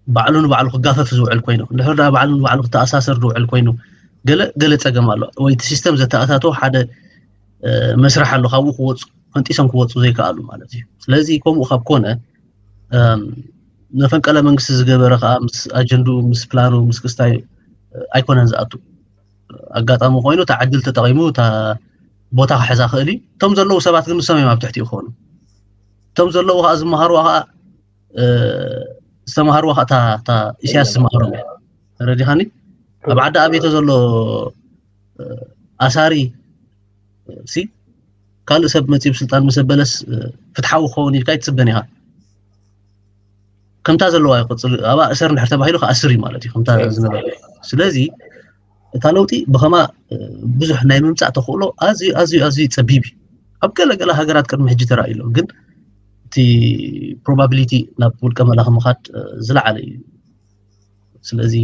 ባዕሉ ንባዕሉ ክጋፈፍ ዝውዕል ኮይኑ እንድሕር ደኣ ባዕሉ ንባዕሉ ክተኣሳሰር ዝውዕል ኮይኑ ገለ ገለ ፀገም ኣሎ ወይ እቲ ሲስተም ዘተኣታቶ ሓደ መስርሕ ኣሎ ካብኡ ክወፁ ፈንጢሶም ክወፁ ዘይከኣሉ ማለት እዩ። ስለዚ ከምኡ ካብ ኮነ መፈንቀለ መንግስቲ ዝገበረ ከዓ ምስ ኣጀንድኡ ምስ ፕላኑ ምስ ክስታይ ኣይኮነን ዝኣቱ። ኣጋጣሚ ኮይኑ እታ ዕድል ተጠቒሙ እታ ቦታ ክሕዛ ክእል እዩ። እቶም ዘለዉ ሰባት ግን ንሶም እዮም ኣብ ትሕቲ ይኾኑ። እቶም ዘለዉ ከዓ ዝመሃርዋ ከዓ ዝተመሃርዋ ከዓ እታ ኢሳያስ ዝመሃሮም እያ። ተረዲኻኒ? ኣብ ዓዲ ኣቤተ ዘሎ ኣሳሪ ሲ ካልእ ሰብ መፂ ብስልጣን ምስ ኣበለስ ፍትሓዊ ክኸውን ኢልካ ኣይትፅበን ኢኻ። ከምታ ዘለዋ ይቆፅል ኣብኣ እሰር እንድሕር ተባሂሉ ክኣስር እዩ ማለት እዩ ከምታ ዝነበረ። ስለዚ እታ ለውጢ ብኸማ ብዙሕ ናይ ምምፃእ ተኽእሎ ኣዝዩ ኣዝዩ ኣዝዩ ፀቢብ እዩ። ኣብ ገለ ገለ ሃገራት ቅድሚ ሕጂ ተራእዩ ኣሎ፣ ግን እቲ ፕሮባቢሊቲ ናብ ውልቀ መላኺ ምኻድ ዝለዓለ እዩ። ስለዚ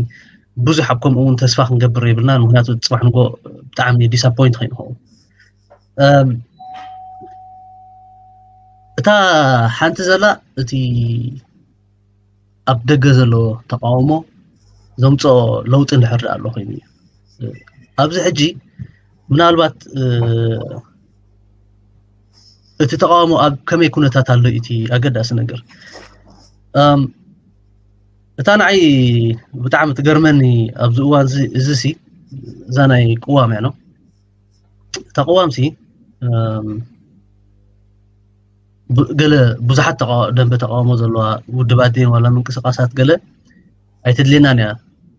ብዙሕ ኣብ ከምኡ እውን ተስፋ ክንገብር የብልናን። ምክንያቱ ፅባሕ ንጎ ብጣዕሚ ዲስኣፖይንት ከይንኸውን እታ ሓንቲ ዘላ እቲ ኣብ ደገ ዘሎ ተቃውሞ ዘምፅኦ ለውጢ እንድሕር ደኣ ኣሎ ኮይኑ እዩ። ኣብዚ ሕጂ ምናልባት እቲ ተቃውሞ ኣብ ከመይ ኩነታት ኣሎ እቲ ኣገዳሲ ነገር። እታ ንዓይ ብጣዕሚ ትገርመኒ ኣብዚ እዋን እዚ ሲ እዛ ናይ ቅዋም እያ ነው። እታ ቅዋም ሲ ገለ ብዙሓት ደንበ ተቃውሞ ዘለዋ ውድባት ድን ዋላ ምንቅስቃሳት ገለ ኣይትድልየናን እያ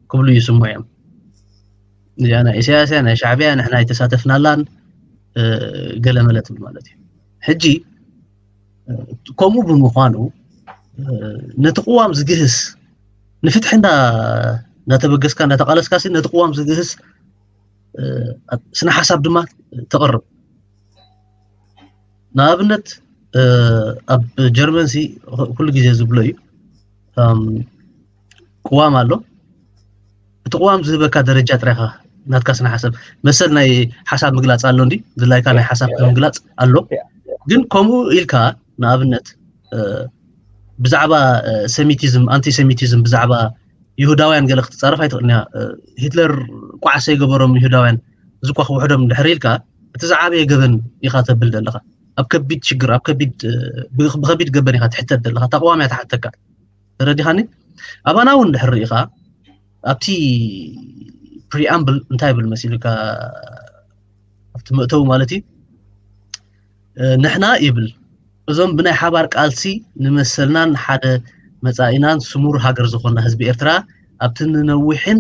ክብሉ ይስምዑ እዮም። እዚኣ ናይ ኢሳያስ እያ ናይ ሻዕብያ ንሕና ኣይተሳተፍናላን ገለ መለ ትብል ማለት እዩ። ሕጂ ከምኡ ብምዃኑ ነቲ ቅዋም ዝግህስ ንፍትሒ እንዳተበገስካ እንዳተቃለስካ ነቲ ቅዋም ዝግህስ ስነ ሓሳብ ድማ ተቕርብ። ንኣብነት ኣብ ጀርመን ሲ ኩሉ ግዜ ዝብሎ እዩ። ቅዋም ኣሎ። እቲ ቅዋም ዝህበካ ደረጃ ጥራይካ ናትካ ስነ ሓሳብ መሰል ናይ ሓሳብ ምግላፅ ኣሎ እንዲ ድላይካ ናይ ሓሳብ ምግላፅ ኣሎ። ግን ከምኡ ኢልካ ንኣብነት ብዛዕባ ሴሚቲዝም፣ ኣንቲሴሚቲዝም፣ ብዛዕባ ይሁዳውያን ገለ ክትፃረፍ ኣይትኽእልንያ። ሂትለር ቋዕሰ ይገበሮም ይሁዳውያን፣ እዚ እኳ ክውሕዶም ድሕሪ ኢልካ እቲ ዝዓበየ ገበን ኢኻ ተብል ዘለኻ። ኣብ ከቢድ ሽግር፣ ኣብ ከቢድ ብከቢድ ገበን ኢኻ ትሕተት ዘለኻ። ተቃዋሚ እያ ትሓተካ። ተረዲኻኒ? ኣባና እውን ድሕር ርኢኻ ኣብቲ ፕሪኣምብል እንታይ ይብል መሲሉካ፣ ኣብቲ መእተዊ ማለት እዩ። ንሕና ይብል እዞም ብናይ ሓባር ቃልሲ ንመሰልናን ሓደ መጻኢናን ስሙር ሃገር ዝኾና ህዝቢ ኤርትራ ኣብቲ ንነዊሕን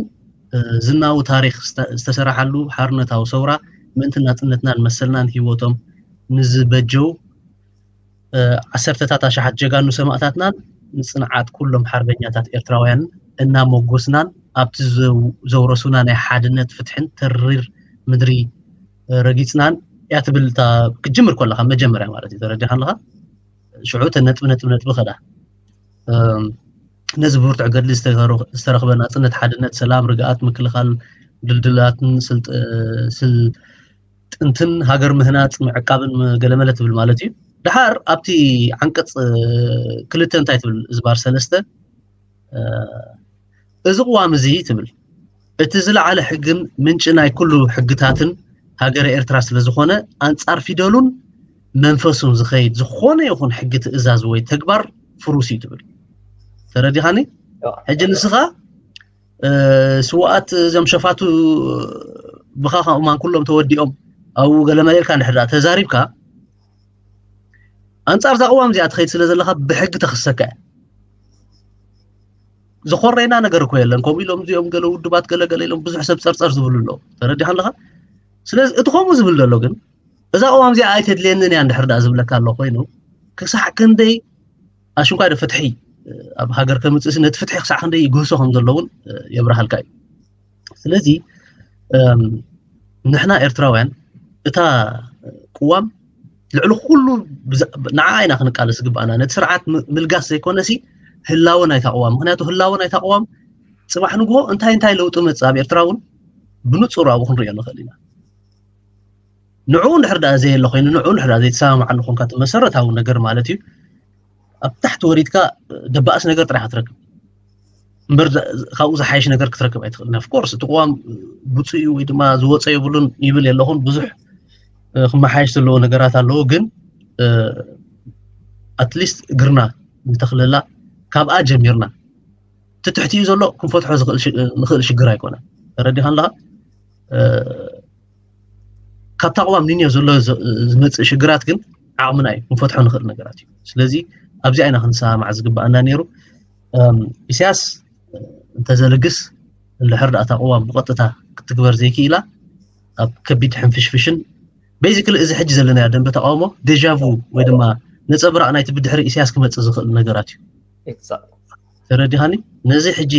ዝናዊ ታሪኽ ዝተሰራሓሉ ሓርነታዊ ሰውራ ምእንቲ ናጽነትናን መሰልናን ህይወቶም ንዝበጀው ዓሰርተታት ኣሽሓት ጀጋኑ ሰማእታትናን ንጽንዓት ኩሎም ሓርበኛታት ኤርትራውያንን እናሞጎስናን ኣብቲ ዘውረሱና ናይ ሓድነት ፍትሕን ተሪር ምድሪ ረጊጽናን እያ ትብል። ክትጅምር ከለካ መጀመርያ ማለት እዩ። ተረዲኻ ኣለካ? ሽዑ እተን ነጥቢ ነጥቢ ነጥቢ ከዳ ነዚ ብብርቱዕ ገድሊ ዝተረኽበ ናጽነት፣ ሓድነት፣ ሰላም፣ ርግኣት፣ ምክልኻል ድልድላትን ስልጥንትን ሃገር ምህናጽ ምዕቃብን ገለመለ ትብል ማለት እዩ። ድሓር ኣብቲ ዓንቀጽ ክልተ እንታይ ትብል? ዝባር ሰለስተ እዚ ቅዋም እዚ ትብል እቲ ዝለዓለ ሕግን ምንጪ ናይ ኩሉ ሕግታትን ሃገረ ኤርትራ ስለ ዝኾነ ኣንጻር ፊደሉን መንፈሱን ዝኸይድ ዝኾነ ይኹን ሕጊ፣ ትእዛዝ ወይ ተግባር ፍሩስ እዩ ትብል። ተረዲኻኒ? ሕጂ ንስኻ ስውኣት እዞም ሸፋቱ ብኻ ከምኡማን ኩሎም ተወዲኦም ኣብኡ ገለ መለ ኢልካ እንድሕር ደኣ ተዛሪብካ ኣንጻር እዛ ቅዋም እዚኣ ትኸይድ ስለ ዘለኻ ብሕጊ ተኽሰካ እያ። ዝኾረና ነገር እኮ የለን። ከምኡ ኢሎም እዚኦም ገለ ውድባት ገለ ገለ ኢሎም ብዙሕ ሰብ ጸርጸር ዝብሉ ኣለዉ። ተረዲኻ ኣለኻ? ስለዚ እቲ ከምኡ ዝብል ዘሎ ግን እዛ ቅዋም እዚኣ ኣይተድልየንን እያ እንድሕር ደኣ ዝብለካ ኣሎ ኮይኑ ክሳዕ ክንደይ ኣሽንኳይ ዶ ፍትሒ ኣብ ሃገር ከምፅእሲ ነቲ ፍትሒ ክሳዕ ክንደይ ይግህሶ ከም ዘሎ እውን የብርሃልካ እዩ። ስለዚ ንሕና ኤርትራውያን እታ ቅዋም ልዕሊ ኩሉ ንዓ ኢና ክንቃለስ ዝግባኣና። ነቲ ስርዓት ምልጋስ ዘይኮነሲ ህላወ ናይታ ቅዋም፣ ምክንያቱ ህላወ ናይታ ቅዋም ፅባሕ ንግሆ እንታይ እንታይ ለውጢ መፅእ ኣብ ኤርትራ እውን ብንፁር ኣብኡ ክንሪኦ ንኽእል ኢና። ንዕኡ እንድሕር ደኣ ዘየለ ኮይኑ፣ ንዕኡ እንድሕር ደኣ ዘይተሰማማዓሉ ኮንካ፣ እቲ መሰረታዊ ነገር ማለት እዩ፣ ኣብ ታሕቲ ወሪድካ ደባእስ ነገር ጥራሕ ክትረክብ እምበር፣ ካብኡ ዝሓይሽ ነገር ክትረክብ ኣይትኽእልን። ኦፍኮርስ እቲ ቅዋም ብፁዕ እዩ ወይ ድማ ዝወፀ የብሉን ይብል የለኹን። ብዙሕ ክመሓየሽ ዘለዎ ነገራት ኣለዎ። ግን ኣትሊስት እግርና ንተኽለላ፣ ካብኣ ጀሚርና እቲ ትሕቲኡ ዘሎ ክንፈትሖ ንኽእል ሽግር ኣይኮነን። ተረዲኻ ኣለኻ? ካብታ ቅዋም ኒንዮ ዘሎ ዝመፅእ ሽግራት ግን ዓቕምና እዩ፣ ክንፈትሖ ንኽእል ነገራት እዩ። ስለዚ ኣብዚ ኣይና ክንሰማማዕ ዝግባኣና ነይሩ። ኢሳያስ እንተዘልግስ እንድሕር ደኣ እታ ቅዋም ብቐጥታ ክትግበር ዘይክኢላ ኣብ ከቢድ ሕንፍሽፍሽን፣ ቤዚክሊ እዚ ሕጂ ዘለናዮ ደንበ ተቃውሞ ዴጃ ቩ ወይ ድማ ነፀብራቕ ናይቲ ብድሕሪ ኢሳያስ ክመፅእ ዝኽእል ነገራት እዩ። ተረዲኻኒ? ነዚ ሕጂ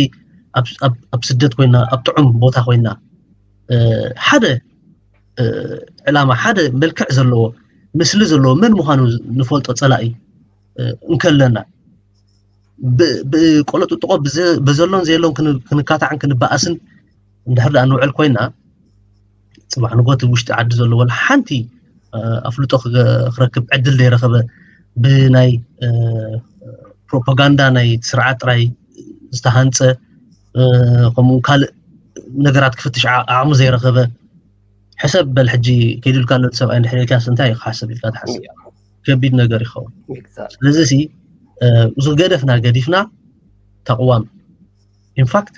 ኣብ ስደት ኮይና ኣብ ጥዑም ቦታ ኮይና ሓደ ዕላማ ሓደ መልክዕ ዘለዎ ምስሊ ዘለዎ መን ምዃኑ ንፈልጦ ጸላኢ እንከለና ብቆለጥጥቆ በዘሎን ዘየሎን ክንካታዕን ክንበኣስን እንድሕር ደኣ ንውዕል ኮይና ጽባሕ ንጎ እቲ ውሽጢ ዓዲ ዘሎ ወላ ሓንቲ ኣፍልጦ ክረክብ ዕድል ዘይረኸበ ብናይ ፕሮፓጋንዳ ናይ ስርዓት ጥራይ ዝተሃንፀ ከምኡ ካልእ ነገራት ክፍትሽ ዓቕሚ ዘይረኸበ ሕሰብ በል ሕጂ ከይዱልካ ኣሎ ሰብኣይ እንድሕር ኢልካስ እንታይ እዩ ክሓስብ ኢልካ ትሓስብ? ከቢድ ነገር ይኸውን። ስለዚ ሲ እዚ ገደፍና ገዲፍና ተቕዋም ኢንፋክት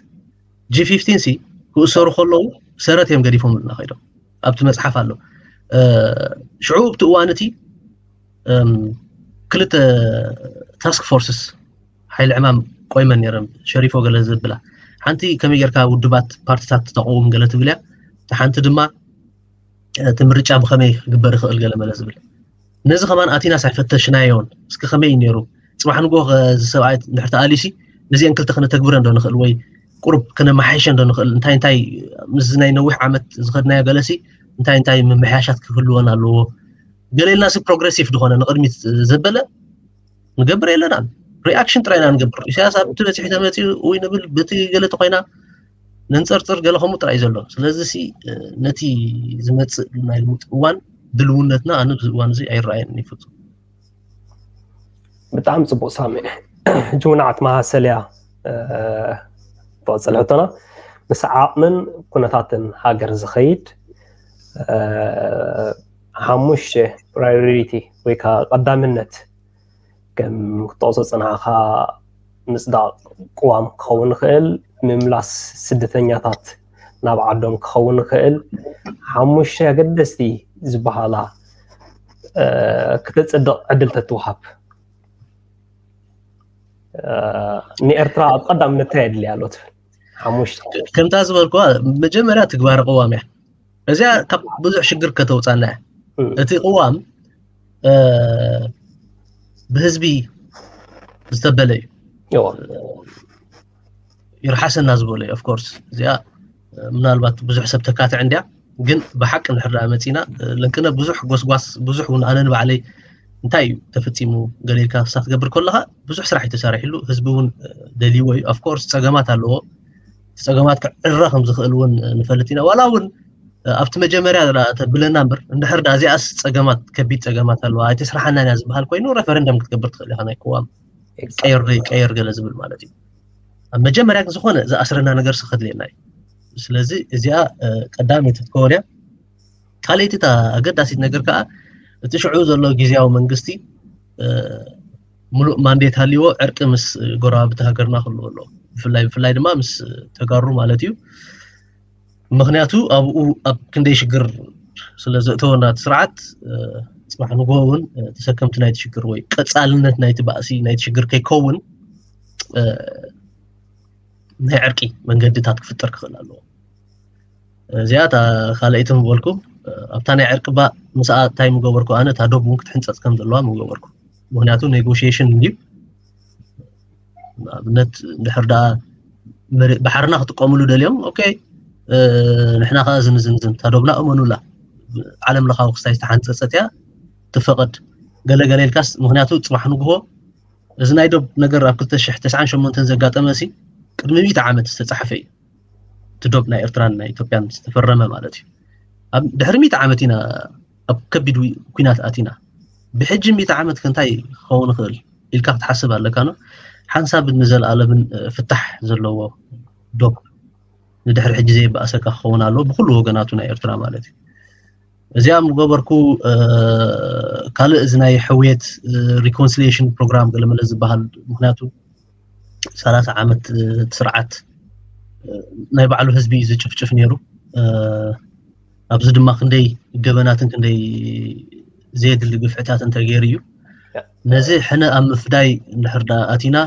ጂ ፊፍቲን ሲ ክእሰሩ ከለዉ ሰረት እዮም ገዲፎምልና ከይዶም ኣብቲ መፅሓፍ ኣሎ። ሽዑ ኣብቲ እዋን እቲ ክልተ ታስክ ፎርስስ ሓይሊ ዕማም ቆይመን ነይረን ሸሪፎ ገለ ዝብላ ሓንቲ ከመይ ጌርካ ውድባት ፓርቲታት ተቐውም ገለ ትብል እያ። ሓንቲ ድማ እቲ ምርጫ ብኸመይ ክግበር ይኽእል ገለ መለ ዝብል ነዚ ከማን ኣቲና ሳይፈተሽናዮን እስኪ ከመይ ነይሩ ፅባሕ ንጎ እዚ ሰብኣይ እንድሕር ተኣሊሲ ነዚአን ክልተ ክነተግብረ እንዶ ንኽእል ወይ ቁሩብ ክነመሓይሸ እንዶ ንኽእል እንታይ እንታይ ምስዚ ናይ ነዊሕ ዓመት ዝኸድናዮ ገለሲ እንታይ እንታይ ምምሕያሻት ክህልወን ኣለዎ ገለ ኢልና ሲ ፕሮግረሲቭ ዝኾነ ንቕድሚት ዘበለ ንገብር የለናን። ሪኣክሽን ጥራይ ኢና ንገብር። ኢሳያስ ኣብቲ በፂሑ ተመፂኡ ወይ ንብል፣ በቲ ገለ ተኮይና ነንፀርፅር፣ ገለ ከምኡ ጥራይ ዘሎ። ስለዚ ሲ ነቲ ዝመፅእ ናይ ለውጢ እዋን ድልውነትና ኣነ ብዚ እዋን እዚ ኣይረኣየን ይፍፁም። ብጣዕሚ ፅቡቅ ሳሚ። ሕጂ እውን ዓት መሃሰልያ ትቐፅል ሕቶና፣ ምስ ዓቕምን ኩነታትን ሃገር ዝኸይድ ሓሙሽተ ፕራዮሪቲ ወይ ከዓ ቀዳምነት ከም ክትጠቕሶ ፅናዕካ ምፅዳቕ ቅዋም ክኸውን ይኽእል፣ ምምላስ ስደተኛታት ናብ ዓዶም ክኸውን ይኽእል፣ ሓሙሽተ ኣገደስቲ ዝበሃላ ክተፅድቕ ዕድል ተትወሃብ ንኤርትራ ኣብ ቀዳምነት እንታይ የድልያ ኣሎ ትብል? ሓሙሽተ ከምታ ዝበልኩዋ መጀመርያ ትግባረ ቅዋም እያ። እዚኣ ካብ ብዙሕ ሽግር ከተውፃና እያ። እቲ ቅዋም ብህዝቢ ዝተበለ እዩ። ይርሓሰና ዝበሎ እዩ። ኦፍኮርስ እዚኣ ምናልባት ብዙሕ ሰብ ተካትዕ እንድያ፣ ግን ብሓቂ እንድሕር ደኣ መፂና ለንቅነ ብዙሕ ጎስጓስ፣ ብዙሕ እውን ኣነ ንባዕለይ እንታይ እዩ ተፈፂሙ ገለ ኢልካ ክሳ ክትገብር ከለካ ብዙሕ ስራሕ እዩ ተሳሪሕሉ። ህዝቢ እውን ደልይዎ እዩ። ኦፍኮርስ ፀገማት ኣለዎ። ፀገማት ክዕረ ከም ዝኽእል እውን ንፈልጥ ኢና። ዋላ እውን ኣብቲ መጀመርያ ተብለና እምበር እንድሕር ደኣ እዚኣስ ፀገማት፣ ከቢድ ፀገማት ኣለዋ ኣይተስራሓናን እያ ዝበሃል ኮይኑ ሬፈረንደም ክትገብር ትኽእል ኢኻ። ናይ ቅዋም ቀየር ቀየር ገለ ዝብል ማለት እዩ። ኣብ መጀመርያ ግን ዝኾነ ዝኣስረና ነገር ሲ ከድልየና እዩ። ስለዚ እዚኣ ቀዳመይቲ ክትከውን እያ። ካልኣይቲ እታ ኣገዳሲት ነገር ከዓ እቲ ሽዑ ዘሎ ግዝያዊ መንግስቲ ሙሉእ ማንዴት ሃልይዎ ዕርቂ ምስ ጎረባብቲ ሃገርና ክህልዎ ኣለዎ። ብፍላይ ብፍላይ ድማ ምስ ተጋሩ ማለት እዩ። ምክንያቱ ኣብኡ ኣብ ክንደይ ሽግር ስለ ዘእተወና እቲ ስርዓት ፅባሕ ንግሆ እውን ተሰከምቲ ናይቲ ሽግር ወይ ቀፃልነት ናይቲ ባእሲ ናይቲ ሽግር ከይከውን ናይ ዕርቂ መንገድታት ክፍጠር ክኽእል ኣለዎ። እዚኣ እታ ካልኣይቲ ምበልኩ ኣብታ ናይ ዕርቂ ባ ምስኣ እንታይ ምገበርኩ ኣነ እታ ዶብ እውን ክትሕንፀፅ ከም ዘለዋ ምገበርኩ። ምክንያቱ ኔጎሽሽን እንድዩ ንኣብነት እንድሕር ደኣ ባሕርና ክጥቀምሉ ደልዮም ኦኬ ንሕና ከዓ ዝንዝንዝን እታ ዶብና እመኑላ ዓለም ለኻዊ ክስታይ ዝተሓንፀፀት እያ ትፈቐድ ገለገለ ኢልካስ ምክንያቱ ፅባሕ ንግሆ እዚ ናይ ዶብ ነገር ኣብ ክልተ ሽሕ ተስዓን ሸሞንተን ዘጋጠመ ሲ ቅድሚ ሚእቲ ዓመት ዝተፃሕፈ እዩ። እቲ ዶብ ናይ ኤርትራን ናይ ኢትዮጵያን ዝተፈረመ ማለት እዩ። ኣብ ድሕሪ ሚእቲ ዓመት ኢና ኣብ ከቢድ ኩናት ኣቲና። ብሕጂ ሚእቲ ዓመት ከ እንታይ ክኸውን ይኽእል ኢልካ ክትሓስብ ኣለካ ነው። ሓንሳብን ንዘለኣለምን ፍታሕ ዘለዎ ዶብ ንድሕሪ ሕጂ ዘይበኣሰካ ክኸውን ኣለዎ ብኩሉ ወገናቱ ናይ ኤርትራ ማለት እዩ። እዚኣ ምገበርኩ ካልእ እዚ ናይ ሕውየት ሪኮንሲሊሽን ፕሮግራም ገለመለ ዝበሃል ምክንያቱ ሰላሳ ዓመት ስርዓት ናይ ባዕሉ ህዝቢ እዩ ዝጭፍጭፍ ነይሩ። ኣብዚ ድማ ክንደይ ገበናትን ክንደይ ዘየድሊ ግፍዕታትን ተገይሩ እዩ። ነዚ ሕነ ኣብ ምፍዳይ እንድሕር ደኣ ኣቲና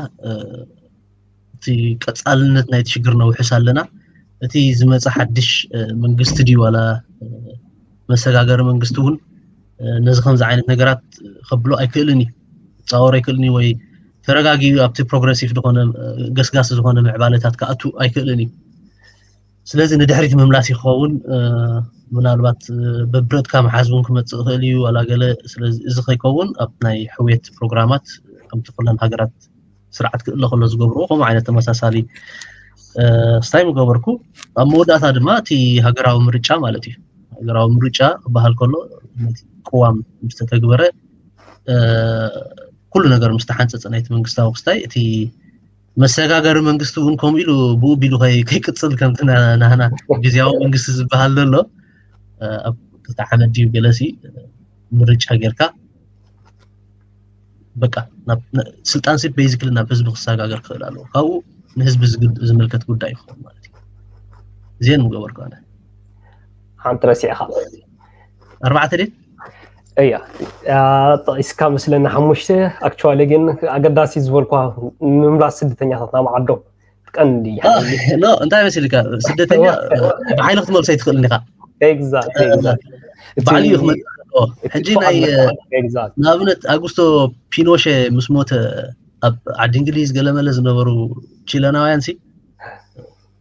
እቲ ቀፃልነት ናይቲ ሽግር ነውሕስ ኣለና። እቲ ዝመፀ ሓድሽ መንግስቲ ድዩ ዋላ መሰጋገሪ መንግስቲ እውን ነዚ ከምዚ ዓይነት ነገራት ከብሎ ኣይክእልን እዩ። ክፃወር ኣይክእልን እዩ ወይ ተረጋጊኡ ኣብቲ ፕሮግረሲቭ ዝኾነ ገስጋሲ ዝኾነ ምዕባለታት ክኣቱ ኣይክእልን እዩ። ስለዚ ንድሕሪት ምምላስ ይኸውን ምናልባት በብረትካ መሓዝ እውን ክመፅእ ይኽእል እዩ ዋላ ገለ። ስለዚ እዚ ከይከውን ኣብ ናይ ሕውየት ፕሮግራማት ከምቲ ኩለን ሃገራት ስርዓት ክእለ ከሎ ዝገብርዎ ከምኡ ዓይነት ተመሳሳሊ ስታይ ምገበርኩ። ኣብ መወዳእታ ድማ እቲ ሃገራዊ ምርጫ ማለት እዩ። ሃገራዊ ምርጫ ክበሃል ከሎ ነቲ ቅዋም ምስ ተተግበረ ኩሉ ነገር ምስ ተሓንፀፀ ናይቲ መንግስታዊ ክስታይ እቲ መሰጋገሪ መንግስቲ እውን ከምኡ ኢሉ ብኡ ቢሉ ከይቅፅል ከምቲ ናህና ግዝያዊ መንግስቲ ዝበሃል ዘሎ ኣብ ክልተ ዓመት ድዩ ገለሲ ምርጫ ጌርካ በቃ ስልጣን ሲ ቤዚክሊ ናብ ህዝቢ ክሰጋገር ክኽእል ኣለዎ። ካብኡ ንህዝቢ ዝምልከት ጉዳይ ይኸውን ማለት እዩ። እዚአን ምገበርኩ ኣነ። ሓንቲ ረሲዕካ ኣርባዕተ ድየ? እያ ጠቂስካ መስለኒ ሓሙሽተ። ኣክቹዋሊ ግን ኣገዳሲ ዝበልኳ ምምላስ ስደተኛታት ናብ ዓዶም ቀንዲ ኖ እንታይ መሲልካ ስደተኛ ብሓይሊ ክትመልሶ ኣይትኽእልን ኢኻ። ባዕሉ እዩ ክመልስ። ሕጂ ናይ ንኣብነት ኣጉስቶ ፒኖሼ ምስ ሞተ ኣብ ዓዲ እንግሊዝ ገለመለ ዝነበሩ ቺለናውያን ሲ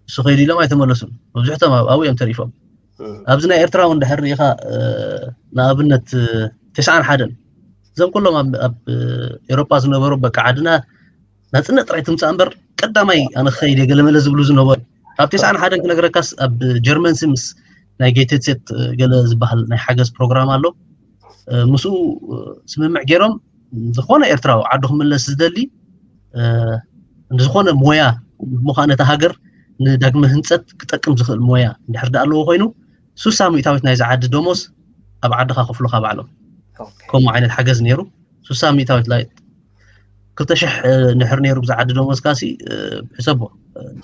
እሱ ከይዱ ኢሎም ኣይተመለሱን። መብዝሕቶም ኣብኡ እዮም ተሪፎም። ኣብዚ ናይ ኤርትራ እውን ድሕር ርኢኻ ንኣብነት ተስዓን ሓደን እዞም ኩሎም ኣብ ኤሮጳ ዝነበሩ በቃ ዓድና ናፅነት ጥራይ ትምፃእ እምበር ቀዳማይ ኣነ ክኸይድ እየ ገለመለ ዝብሉ ዝነበሩ። ካብ ተስዓን ሓደን ክነግረካስ ኣብ ጀርመን ምስ ናይ ጌትሴት ገለ ዝበሃል ናይ ሓገዝ ፕሮግራም ኣሎ። ምስኡ ስምምዕ ገይሮም ዝኾነ ኤርትራዊ ዓዱ ክምለስ ዝደሊ ዝኾነ ሞያ ምዃነ እታ ሃገር ንዳግመ ህንፀት ክጠቅም ዝኽእል ሞያ እንድሕር ዳ ኣለዎ ኮይኑ ሱሳ ሚእታዊት ናይዚ ዓዲ ደሞዝ ኣብ ዓድኻ ከፍሉኻ ባዕሎም። ከምኡ ዓይነት ሓገዝ ነይሩ። ሱሳ ሚእታዊት ላይ ክልተ ሽሕ ንድሕር ነይሩ ብዛ ዓዲ ደሞዝካ ሲ ሕሰቦ።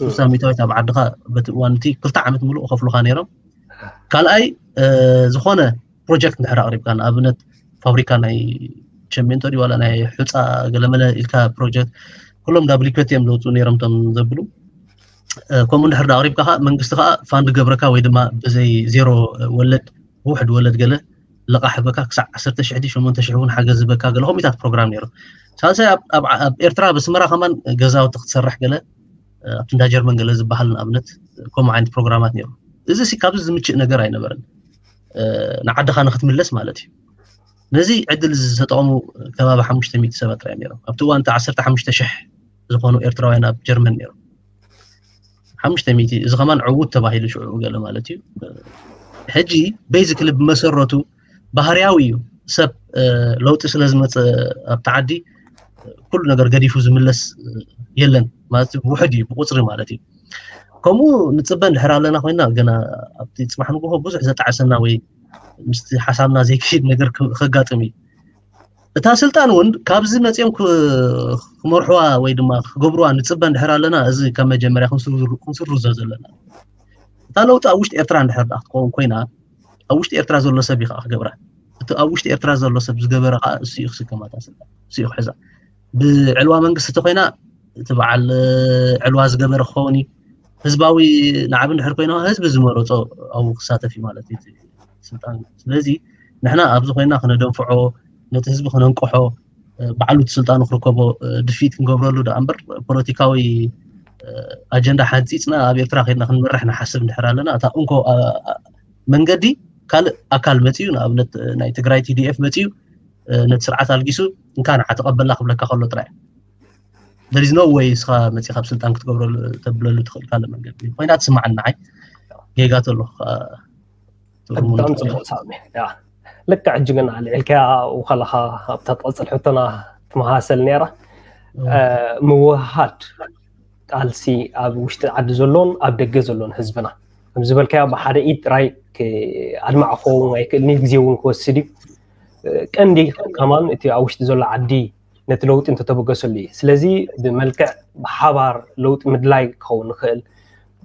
ሱሳ ሚእታዊት ኣብ ዓድኻ በቲ እዋን እቲ ክልተ ዓመት ምሉእ ከፍሉኻ ነይሮም። ካልኣይ ዝኾነ ፕሮጀክት እንድሕር ኣቕሪብካ ንኣብነት ፋብሪካ ናይ ቸሜንቶ ድዩ ዋላ ናይ ሑፃ ገለመለ ኢልካ ፕሮጀክት ኩሎም ዳብሊኬት እዮም ዘውፅኡ ነይሮም እቶም ዘብሉ። ከምኡ እንድሕር ኣቕሪብካ ከዓ መንግስቲ ከዓ ፋንድ ገብረካ ወይ ድማ ብዘይ ዜሮ ወለድ ብውሕድ ወለድ ገለ ለቓሕ ህበካ ክሳዕ ዓሰርተ ሽሕ ድዩ ሸሞንተ ሽሕ እውን ሓገዝ ዝበካ ገለ ከምኡታት ፕሮግራም ነይሩ። ሳልሳይ ኣብ ኤርትራ ኣብ ኣስመራ ከማን ገዛውቲ ክትሰርሕ ገለ ኣብቲ እንዳ ጀርመን ገለ ዝበሃል ንኣብነት ከምኡ ዓይነት ፕሮግራማት ነይሩ። እዚ ሲ ካብዚ ዝምችእ ነገር ኣይነበረን ንዓድኻ ንክትምለስ ማለት እዩ። ነዚ ዕድል ዝተጠቐሙ ከባቢ ሓሙሽተ ሚእቲ ሰባት ጥራይ ነይሮም ኣብቲ እዋን እቲ ዓሰርተ ሓሙሽተ ሽሕ ዝኾኑ ኤርትራውያን ኣብ ጀርመን ነይሮም። ሓሙሽተ ሚእቲ እዚ ከማን ዕዉት ተባሂሉ ሽዑ ገለ ማለት እዩ። ሕጂ ቤዚክሊ ብመሰረቱ ባህርያዊ እዩ። ሰብ ለውጢ ስለ ዝመፀ ኣብቲ ዓዲ ኩሉ ነገር ገዲፉ ዝምለስ የለን ማለት ውሕድ እዩ ብቁፅሪ ማለት እዩ። ከምኡ ንፅበ እንድሕር ኣለና ኮይና ገና ኣብቲ ፅባሕ ንግሆ ብዙሕ ዘጣዕሰና ወይ ምስቲ ሓሳብና ዘይክድ ነገር ከጋጥም እዩ። እታ ስልጣን እውን ካብዚ መፅኦም ክመርሕዋ ወይ ድማ ክገብርዋ ንፅበ እንድሕር ኣለና እዚ ካብ መጀመርያ ክንስርዞ ዘለና እታ ለውጢ ኣብ ውሽጢ ኤርትራ እንድሕር ክትከውን ኮይና ኣብ ውሽጢ ኤርትራ ዘሎ ሰብ እዩ ከዓ ክገብራ። እቲ ኣብ ውሽጢ ኤርትራ ዘሎ ሰብ ዝገበረ ከዓ እሱ እዩ ክስከማታ ስልጣን እሱ እዩ ክሕዛ። ብዕልዋ መንግስቲ ተኮይና እቲ በዓል ዕልዋ ዝገበረ ክኸውን እዩ። ህዝባዊ ናዕቢ እንድሕር ኮይና ህዝቢ ዝመረፆ ኣብኡ ክሳተፍ እዩ ማለት እዩ ስልጣን። ስለዚ ንሕና ኣብዚ ኮይና ክነደንፍዖ ነቲ ህዝቢ ክነንቅሖ ባዕሉ እቲ ስልጣኑ ክርከቦ ድፊት ክንገብረሉ ደኣ እምበር ፖለቲካዊ ኣጀንዳ ሓንፂፅና ኣብ ኤርትራ ከድና ክንመርሕ ንሓስብ እንድሕር ኣለና እታ እንኮ መንገዲ ካልእ ኣካል መፅዩ ንኣብነት ናይ ትግራይ ቲዲኤፍ መፅዩ ነቲ ስርዓት ኣልጊሱ እንካ ንዓ ተቐበልና ክብለካ ከሎ ጥራይ there is no way እስኻ መፂኻ ኣብ ስልጣን ክትገብረሉ ተብለሉ ትኽእል ካልእ መንገዲ ኮይና ትስማዓኒ ንዓይ ጌጋ ተሎ ብጣዕሚ ፅቡቅ ሳሚ ልክዕ ሕጂ ግን ኣልዒልካያ ውኸለኻ ኣብታ ትቐፅል ሕቶና ትመሃሰል ነይራ ምውሃድ ቃልሲ ኣብ ውሽጢ ዓዲ ዘሎን ኣብ ደገ ዘሎን ህዝብና ከም ዝበልካዮ ብሓደ ኢድ ጥራይ ኣድማዕ ክኸውን ኣይክእልን ግዜ እውን ክወስድ እዩ ቀንዲ ከማን እቲ ኣብ ውሽጢ ዘሎ ዓዲ ነቲ ለውጢ እንተተበገሰሉ እዩ ስለዚ ብመልክዕ ብሓባር ለውጢ ምድላይ ክኸውን ይኽእል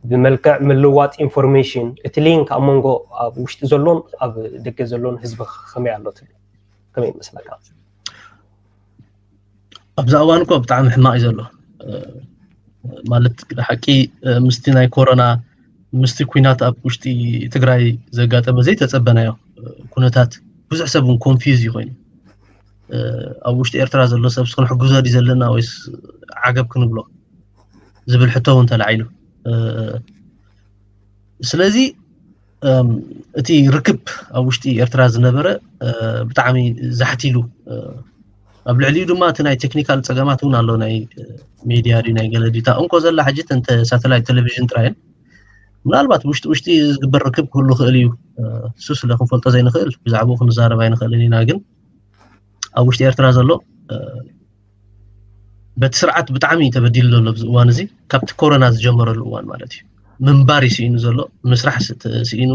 ብመልክዕ ምልዋጥ ኢንፎርሜሽን እቲ ሊንክ ኣብ መንጎ ኣብ ውሽጢ ዘሎን ኣብ ደገ ዘሎን ህዝቢ ከመይ ኣሎ ትብል ከመይ ይመስለካ ኣብዛ እዋን እኮ ብጣዕሚ ሕማቕ እዩ ዘሎ ማለት ሓቂ ምስቲ ናይ ኮሮና ምስቲ ኩናት ኣብ ውሽጢ ትግራይ ዘጋጠመ ዘይተፀበናዮ ኩነታት ብዙሕ ሰብ እውን ኮንፊዝ እዩ ኮይኑ ኣብ ውሽጢ ኤርትራ ዘሎ ሰብ ክንሕግዞ ድዩ ዘለና ወይስ ዓገብ ክንብሎ ዝብል ሕቶ እውን ተላዒሉ ስለዚ እቲ ርክብ ኣብ ውሽጢ ኤርትራ ዝነበረ ብጣዕሚ ዛሕቲሉ ኣብ ልዕሊኡ ድማ እቲ ናይ ቴክኒካል ፀገማት እውን ኣሎ ናይ ሜድያ ድዩ ናይ ገለ ድዩ እታ እንኮ ዘላ ሕጂ እንተ ሳተላይት ቴሌቪዥን ጥራይን ምናልባት ውሽጢ ውሽጢ ዝግበር ርክብ ክህሉ ክእል እዩ እሱ ስለ ክንፈልጦ ዘይንኽእል ብዛዕባኡ ክንዛረብ ኣይንኽእልን ኢና ግን ኣብ ውሽጢ ኤርትራ ዘሎ በቲ ስርዓት ብጣዕሚ ተበዲሉ ዘሎ ኣብዚ እዋን እዚ ካብቲ ኮሮና ዝጀመረሉ እዋን ማለት እዩ ምንባር ይስኢኑ ዘሎ ምስራሕ ስኢኑ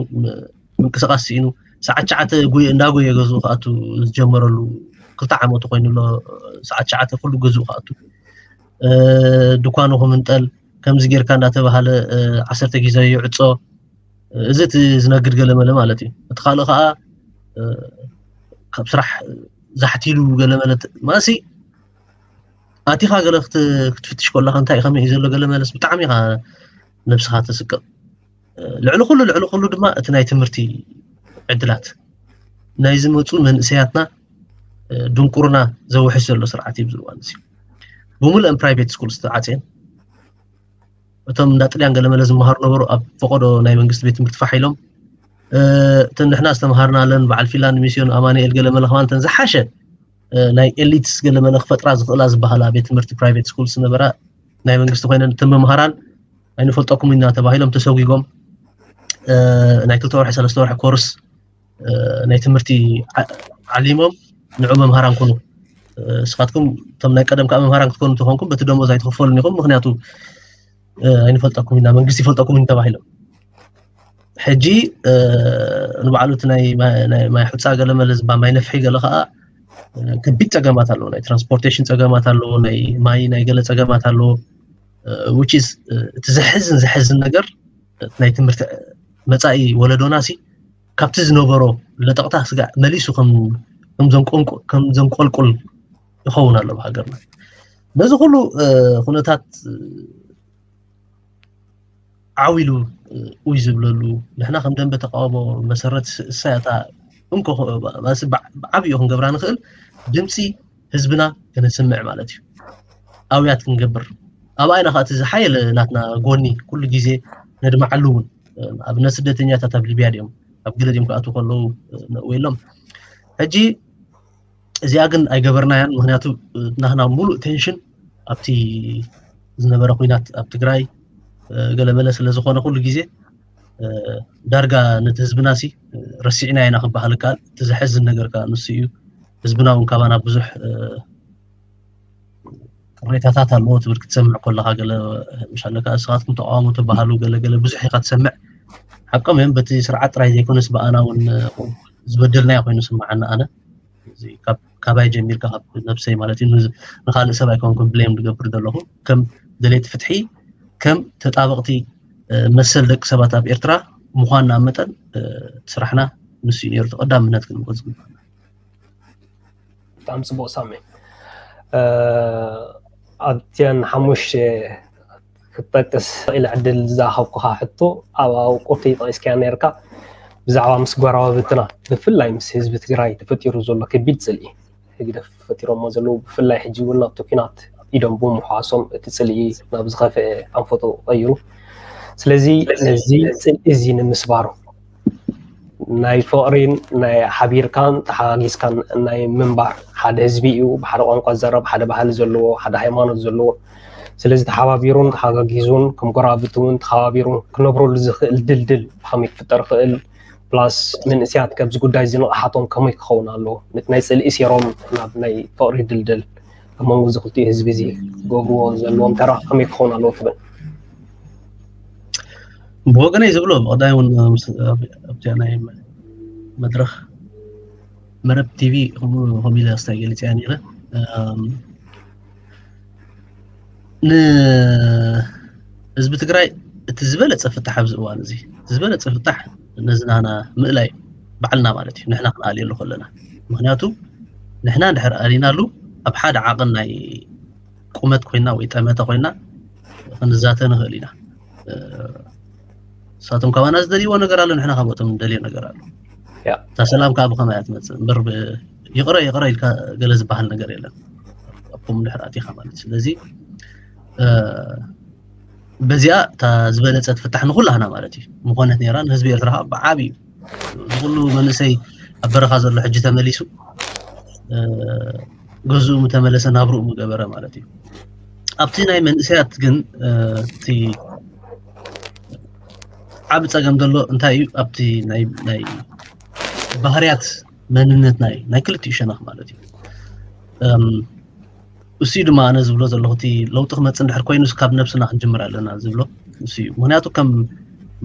ምንቅስቃስ ስኢኑ ሰዓት ሸዓተ ጉየ እንዳጎየ ገዝኡ ክኣቱ ዝጀመረሉ ክልተ ዓመቱ ኮይኑ ኣሎ ሰዓት ሸዓተ ኩሉ ገዝኡ ክኣቱ ድኳኑ ክምንጠል ከምዚ ጌርካ እንዳተባሃለ ዓሰርተ ግዜ ይዕፆ እዚ እቲ ዝነግድ ገለመለ ማለት እዩ እቲ ካልእ ከዓ ካብ ስራሕ ዛሕቲሉ ገለመለ ማሲ ኣቲኻ ገለ ክትፍትሽ ከለካ እንታይ ከመይ እዩ ዘሎ ገለመለስ ብጣዕሚ ኢኻ ነብስኻ ተስቅቕ ልዕሊ ኩሉ ልዕሊ ኩሉ ድማ እቲ ናይ ትምህርቲ ዕድላት ናይ ዝመፁ መንእሰያትና ድንቁርና ዘውሕስ ዘሎ ስርዓት እዩ ዝዋን እዚ ብምልእን ፕራይቬት ስኩል ዝተዓፅየን እቶም እንዳ ጥልያን ገለመለ ዝመሃሩ ነበሩ ኣብ ፈቆዶ ናይ መንግስቲ ቤት ትምህርቲ ፋሕ ኢሎም እተን ንሕና ዝተምሃርናለን በዓል ፊንላንድ ሚስዮን ኣማኑኤል ገለ መለ ከማን እተን ዝሓሸ ናይ ኤሊትስ ገለ መለ ክፈጥራ ዝኽእላ ዝበሃላ ቤት ትምህርቲ ፕራይቬት ስኩልስ ነበራ። ናይ መንግስቲ ኮይነን እተን መምሃራን ኣይንፈልጠኩም ኢና ተባሂሎም ተሰጒጎም ናይ ክልተ ወርሒ ሰለስተ ወርሒ ኮርስ ናይ ትምህርቲ ዓሊሞም ንዑ መምሃራን ኩኑ። እስኻትኩም እቶም ናይ ቀደም ከዓ መምሃራን ክትኮኑ ተኾንኩም በቲ ደሞዝ ኣይትኽፈሉን ኢኹም፣ ምክንያቱ ኣይንፈልጠኩም ኢና፣ መንግስቲ ይፈልጠኩም እዩ ተባሂሎም። ሕጂ ንባዕሉ እቲ ናይ ማይ ሑፃ ገለ መለ ዝባ ማይ ነፍሒ ገለ ከዓ ከቢድ ፀገማት ኣለዎ። ናይ ትራንስፖርቴሽን ፀገማት ኣለዎ፣ ናይ ማይ ናይ ገለ ፀገማት ኣለዎ። Which is እቲ ዘሕዝን ዘሕዝን ነገር ናይ ትምህርቲ መፃኢ ወለዶና ሲ ካብቲ ዝነበሮ ለጠቕታ ስጋዕ መሊሱ ከም ዘንቆልቁል ይኸውን ኣሎ ብሃገርና። ነዚ ኩሉ ኩነታት ዓው ኢሉ ኡይ ዝብለሉ፣ ንሕና ከም ደንበ ተቃውሞ መሰረት እሳያታ እንኮ ብዓብኡ ክንገብራ ንኽእል ድምፂ ህዝብና ክነስምዕ ማለት እዩ። ኣውያት ክንገብር ኣብኣይና ከዓ እቲ ዝሓየለ ናትና ጎኒ ኩሉ ግዜ ነድምዓሉ እውን ኣብነት ስደተኛታት ኣብ ሊብያ ድዮም ኣብ ገለ ድዮም ክኣትዉ ከለዉ ነእወሎም። ሕጂ እዚኣ ግን ኣይገበርናያን፣ ምክንያቱ ናህና ሙሉእ ቴንሽን ኣብቲ ዝነበረ ኩናት ኣብ ትግራይ ገለመለ ስለ ዝኾነ ኩሉ ግዜ ዳርጋ ነቲ ህዝብና ሲ ረሲዕና ኢና ክበሃል ይከኣል። እቲ ዘሕዝን ነገር ከዓ ንሱ እዩ። ህዝብና እውን ካባና ብዙሕ ቅሬታታት ኣለዎ ትብል ክትሰምዕ ከለካ ገለ ምሻለካ እስኻትኩም ተቃውሞ ትበሃሉ ገለ ገለ ብዙሕ ኢካ ትሰምዕ። ሓቆም እዮም በቲ ስርዓት ጥራይ ዘይኮነስ ብኣና እውን ዝበደልናዮ ኮይኑ ስምዓና ኣነ ካባይ ጀሚርካ ካብ ነብሰይ ማለት እዩ ንካልእ ሰብ ኣይኮንኩም ብሌም ዝገብር ዘለኹ ከም ደሌቲ ፍትሒ ከም ተጣበቕቲ መሰል ደቂ ሰባት ኣብ ኤርትራ ምኳንና መጠን ስራሕና ንሱ እዩ ነሩ ተቀዳምነት ክንወዝ ግባና። ብጣዕሚ ፅቡቅ ሳሚ። ኣብቲያን ሓሙሽተ ክትጠቅስ ኢለ ዕድል ዝሃብኩኻ ሕቶ ኣብ ቁርቲ ጠቂስካያ ነርካ ብዛዕባ ምስ ጎረባብትና ብፍላይ ምስ ህዝቢ ትግራይ ተፈጢሩ ዘሎ ከቢድ ፅልኢ ህግደፍ ፈጢሮሞ ዘለዉ ብፍላይ ሕጂ እውን ናብቲ ኩናት ኢዶም ብምሕዋሶም እቲ ፅልኢ ናብ ዝኸፍአ ኣንፈቶ ቀይሩ። ስለዚ ነዚ ፅልኢ እዚ ንምስባሩ ናይ ፍቕሪን ናይ ሓቢርካን ተሓጋጊዝካን ናይ ምንባር ሓደ ህዝቢ እዩ። ብሓደ ቋንቋ ዝዛረብ ሓደ ባህሊ ዘለዎ ሓደ ሃይማኖት ዘለዎ ስለዚ ተሓባቢሩን ተሓጋጊዙን ከም ጎረባብቲ እውን ተሓባቢሩን ክነብረሉ ዝኽእል ድልድል ብኸመይ ክፍጠር ይኽእል ፕላስ መንእስያት ከብዚ ጉዳይ እዚ ንቕሓቶም ከመይ ክኸውን ኣለዎ ነቲ ናይ ፅልኢ ሴሮም ናብ ናይ ፍቕሪ ድልድል ኣብ መንጎ እዚ ክልቲኡ ህዝቢ እዚ ክገብርዎ ዘለዎም ተራ ከመይ ክኸውን ኣለዎ ትብል? ብወገነይ ዝብሎ ብቐዳይ እውን ኣብቲኣ ናይ መድረኽ መረብ ቲቪ ከምኡ ኢለ ኣስታይ ገሊፀያ ነይረ። ንህዝቢ ትግራይ እቲ ዝበለፀ ፍታሕ ኣብዚ እዋን እዚ እቲ ዝበለፀ ፍታሕ ነዚ ናና ምእላይ ባዕልና ማለት እዩ ንሕና ክንኣልየሉ ከለና ምክንያቱ ንሕና እንድሕር ኣሊናሉ ኣብ ሓደ ዓቕን ናይ ቁመት ኮይና ወይ ጠመተ ኮይና ክንዛተ ንኽእል ኢና። ንሳቶም ካባና ዝደልይዎ ነገር ኣሎ፣ ንሕና ካብኦቶም ንደልዮ ነገር ኣሎ። እታ ሰላም ከዓ ብኸመይ እያ ትመፅእ እምበር ይቕረ ይቕረ ኢልካ ገለ ዝበሃል ነገር የለን። ኣብኩም ድሕር ኣቲኻ ማለት ስለዚ በዚኣ እታ ዝበለፀት ፍታሕ ንኩላህና ማለት እዩ ምኾነት ነራ ንህዝቢ ኤርትራ ከዓ ብዓብዩ ንኩሉ መንእሰይ ኣብ በረኻ ዘሎ ሕጂ ተመሊሱ ገዝኡ ምተመለሰ ናብርኡ ምገበረ ማለት እዩ። ኣብቲ ናይ መንእሰያት ግን እቲ ዓብ ፀገም ዘሎ እንታይ እዩ ኣብቲ ናይ ባህርያት መንነትና እዩ ናይ ክልቲኡ ሸነኽ ማለት እዩ። እሱ ድማ ኣነ ዝብሎ ዘለኹ እቲ ለውጢ ክመፅእ እንድሕር ኮይኑ ካብ ነብስና ክንጅምር ኣለና ዝብሎ እሱ እዩ። ምክንያቱ ከም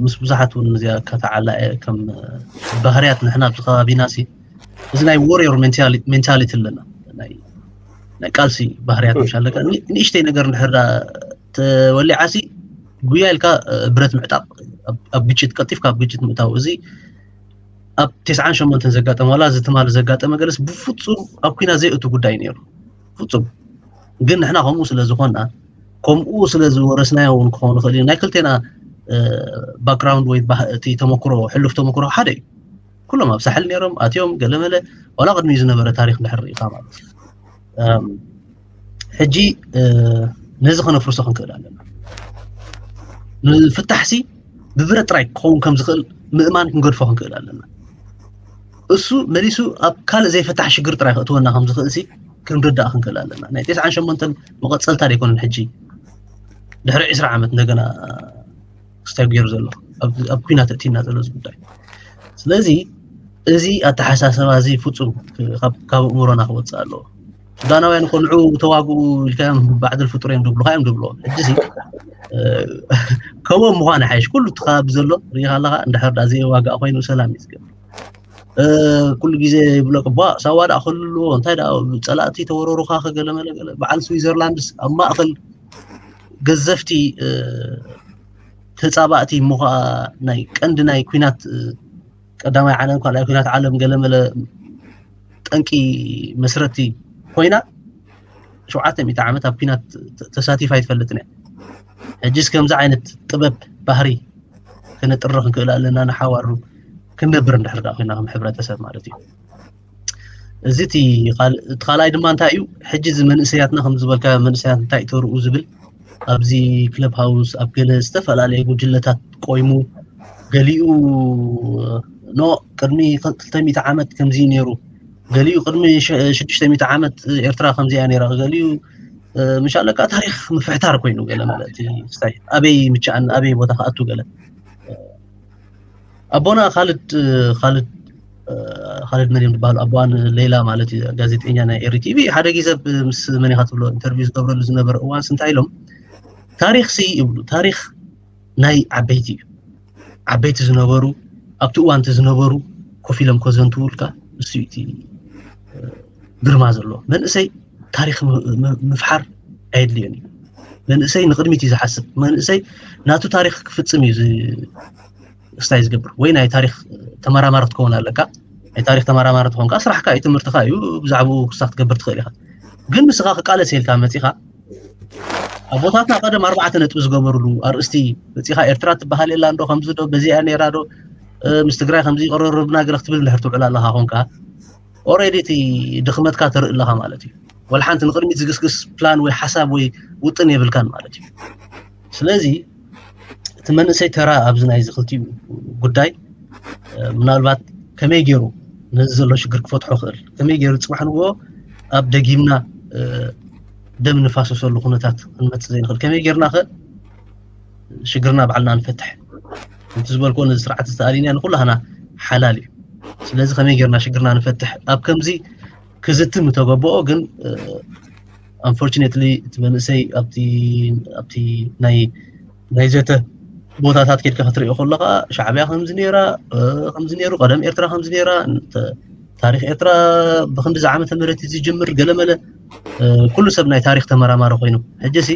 ምስ ብዙሓት እውን እዚኣ ከተዓላ ከም ባህርያት ንሕና ኣብዚ ከባቢና ሲ እዚ ናይ ዎሪዮር ሜንታሊቲ ኣለና ናይ ቃልሲ ባህርያት ምሻለካ ንእሽተይ ነገር እንድሕር ተወሊዓ ሲ ጉያ ኢልካ ብረት ምዕጣቅ ኣብ ግጭት ቀልጢፍካ ኣብ ግጭት ምእታው እዚ ኣብ ተስዓን ሸሞንተን ዘጋጠመ ዋላ እዚ ትማሊ ዘጋጠመ ገለስ ብፍፁም ኣብ ኩና ዘይእቱ ጉዳይ ነይሩ ፍፁም ግን ንሕና ከምኡ ስለ ዝኾና ከምኡ ስለ ዝወረስናዮ እውን ክኸውን ይኽእል እዩ ናይ ክልቴና ባክግራውንድ ወይ እቲ ተመክሮ ሕሉፍ ተመክሮ ሓደ እዩ ኩሎም ኣብ ሳሕል ነይሮም ኣትዮም ገለመለ ዋላ ቅድሚኡ ዝነበረ ታሪክ ድሕር ርኢኻ ማለት እዩ ሕጂ ነዚ ከነፍርሶ ክንክእል ኣለና ንፍታሕሲ ብብረት ጥራይ ክኸውን ከም ዝኽእል ምእማን ክንገድፎ ክንክእል ኣለና። እሱ መሊሱ ኣብ ካልእ ዘይፈታሕ ሽግር ጥራይ ክእትወና ከም ዝኽእል ሲ ክንርዳእ ክንክእል ኣለና። ናይ ተስዓን ሸሞንተን መቐጸልታ ዘይኮነን ሕጂ ድሕሪ ዕስራ ዓመት እንደገና ክስታይ ገይሩ ዘሎ ኣብ ኩናት እቲና ዘሎ እዚ ጉዳይ። ስለዚ እዚ ኣተሓሳሰባ እዚ ፍጹም ካብ ኣእምሮና ክወፅእ ኣለዎ። ሱዳናውያን እኮ ንዑ ተዋግኡ ኢልካዮም ባዕድል ፍጡር እዮም ድብሉካ እዮም ድብሎ። ሕጂ ሲ ከምኦም ምኳን ሓይሽ ኩሉ እቲ ከባቢ ዘሎ ርኢኻ ኣለካ። እንድሕር ዳ ዘይዋጋእ ኮይኑ ሰላም እዩ ዝገብር። ኩሉ ግዜ ይብለቅ ቧ ሳዋ ዳ ክልልዎ እንታይ ዳ ጸላእቲ ተወረሩካ ከገለመለ ገለ በዓል ስዊዘርላንድስ ኣብ ማእከል ገዘፍቲ ተጻባእቲ እሞ ከዓ ናይ ቀንዲ ናይ ኩናት ቀዳማይ ዓለም ካልኣይ ኩናት ዓለም ገለመለ ጠንቂ መስረቲ ኮይና ሸውዓተ ሚእቲ ዓመት ኣብ ኩናት ተሳቲፋ ኣይትፈልጥን እያ። ሕጂስ ከምዚ ዓይነት ጥበብ ባህሪ ክነጥሪ ክንክእል ኣለና ንሓዋሩ ክንነብር እንድሕር ዳ ኮይና ከም ሕብረተሰብ ማለት እዩ። እዚ እቲ ካልኣይ ድማ እንታይ እዩ ሕጂ እዚ መንእሰያትና ከም ዝበልካ መንእሰያት እንታይ ተርኡ ዝብል ኣብዚ ክለብ ሃውስ ኣብ ገለ ዝተፈላለየ ጉጅለታት ቆይሙ ገሊኡ ኖ ቅድሚ ክልተ ሚእቲ ዓመት ከምዚ ነይሩ፣ ገሊኡ ቅድሚ ሽዱሽተ ሚእቲ ዓመት ኤርትራ ከምዚኣ ነይራ፣ ገሊኡ ምሻለካ ታሪክ ምፍሕታር ኮይኑ ገለ ማለት ስታይ ኣበይ ምቻኣን ኣበይ ቦታ ክኣቱ ገለ ኣቦና ካልድ ካልድ ካልድ መን እዮም ዝበሃሉ ኣቦዋን ሌላ ማለት እዩ ጋዜጠኛ ናይ ኤሪ ቲቪ ሓደ ግዜ ምስ መን ኢኻ ትብሎ ኢንተርቪው ዝገብረሉ ዝነበረ እዋንስ እንታይ ኢሎም ታሪክ ሲ ይብሉ ታሪክ ናይ ዓበይቲ እዩ ዓበይቲ ዝነበሩ ኣብቲ እዋንቲ ዝነበሩ ኮፍ ኢሎም ከዘንትውልካ እሱ እቲ ግርማ ዘለዎ መንእሰይ ታሪክ ምፍሓር ኣየድልዮን እዩ መንእሰይ ንቅድሚት እዩ ዝሓስብ መንእሰይ ናቱ ታሪክ ክፍፅም እዩ ስታይ ዝገብር ወይ ናይ ታሪክ ተመራማሪ ክትከውን ኣለካ ናይ ታሪክ ተመራማሪ ትኾንካ ስራሕካ እዩ ትምህርትካ እዩ ብዛዕባኡ ክሳ ክትገብር ትኽእል ኢካ ግን ንስኻ ክቃለስ ኢልካ መፂኻ ኣቦታትና ቀደም ኣርባዕተ ነጥቢ ዝገበሩሉ ኣርእስቲ መፂኻ ኤርትራ ትበሃል የላ እንዶ ከምዚ ዶ በዚኣ ነይራ ዶ ምስ ትግራይ ከምዚ ይቀረርብና ገለ ክትብል እንድሕር ትውዕል ኣለካ ኮንካ ኦሬዲ እቲ ድኽመትካ ትርኢ ኣለኻ ማለት እዩ ወላ ሓንቲ ንቅድሚት ዝግስግስ ፕላን ወይ ሓሳብ ወይ ውጥን የብልካን ማለት እዩ ስለዚ እቲ መንእሰይ ተራ ኣብዚ ናይ ዝክልቲኡ ጉዳይ ምናልባት ከመይ ገይሩ ነዚ ዘሎ ሽግር ክፈትሖ ክእል ከመይ ገይሩ ፅባሕ ንግሆ ኣብ ደጊምና ደም ንፋሰሰሉ ኩነታት ክንመፅእ ዘይንኽእል ከመይ ገይርና ከ ሽግርና ባዕልና ንፈትሕ እቲ ዝበልኮ ነዚ ስርዓት ዝተኣሊና ንኩላህና ሓላል እዩ ስለዚ ከመይ ገይርና ሽግርና ንፈትሕ ኣብ ከምዚ ክዝቲ ምተገበኦ ግን unfortunately እቲ መንእሰይ ኣብቲ ኣብቲ ናይ ናይ ዘተ ቦታታት ኬድካ ክትሪኦ ከለካ ሻዕብያ ከምዚ ነይራ ከምዚ ነይሩ ቀደም ኤርትራ ከምዚ ነይራ ታሪክ ኤርትራ ብክንዲዚ ዓመተ ምህረት ዝጅምር ገለመለ ኩሉ ሰብ ናይ ታሪክ ተመራማሪ ኮይኑ ሕጂ ሲ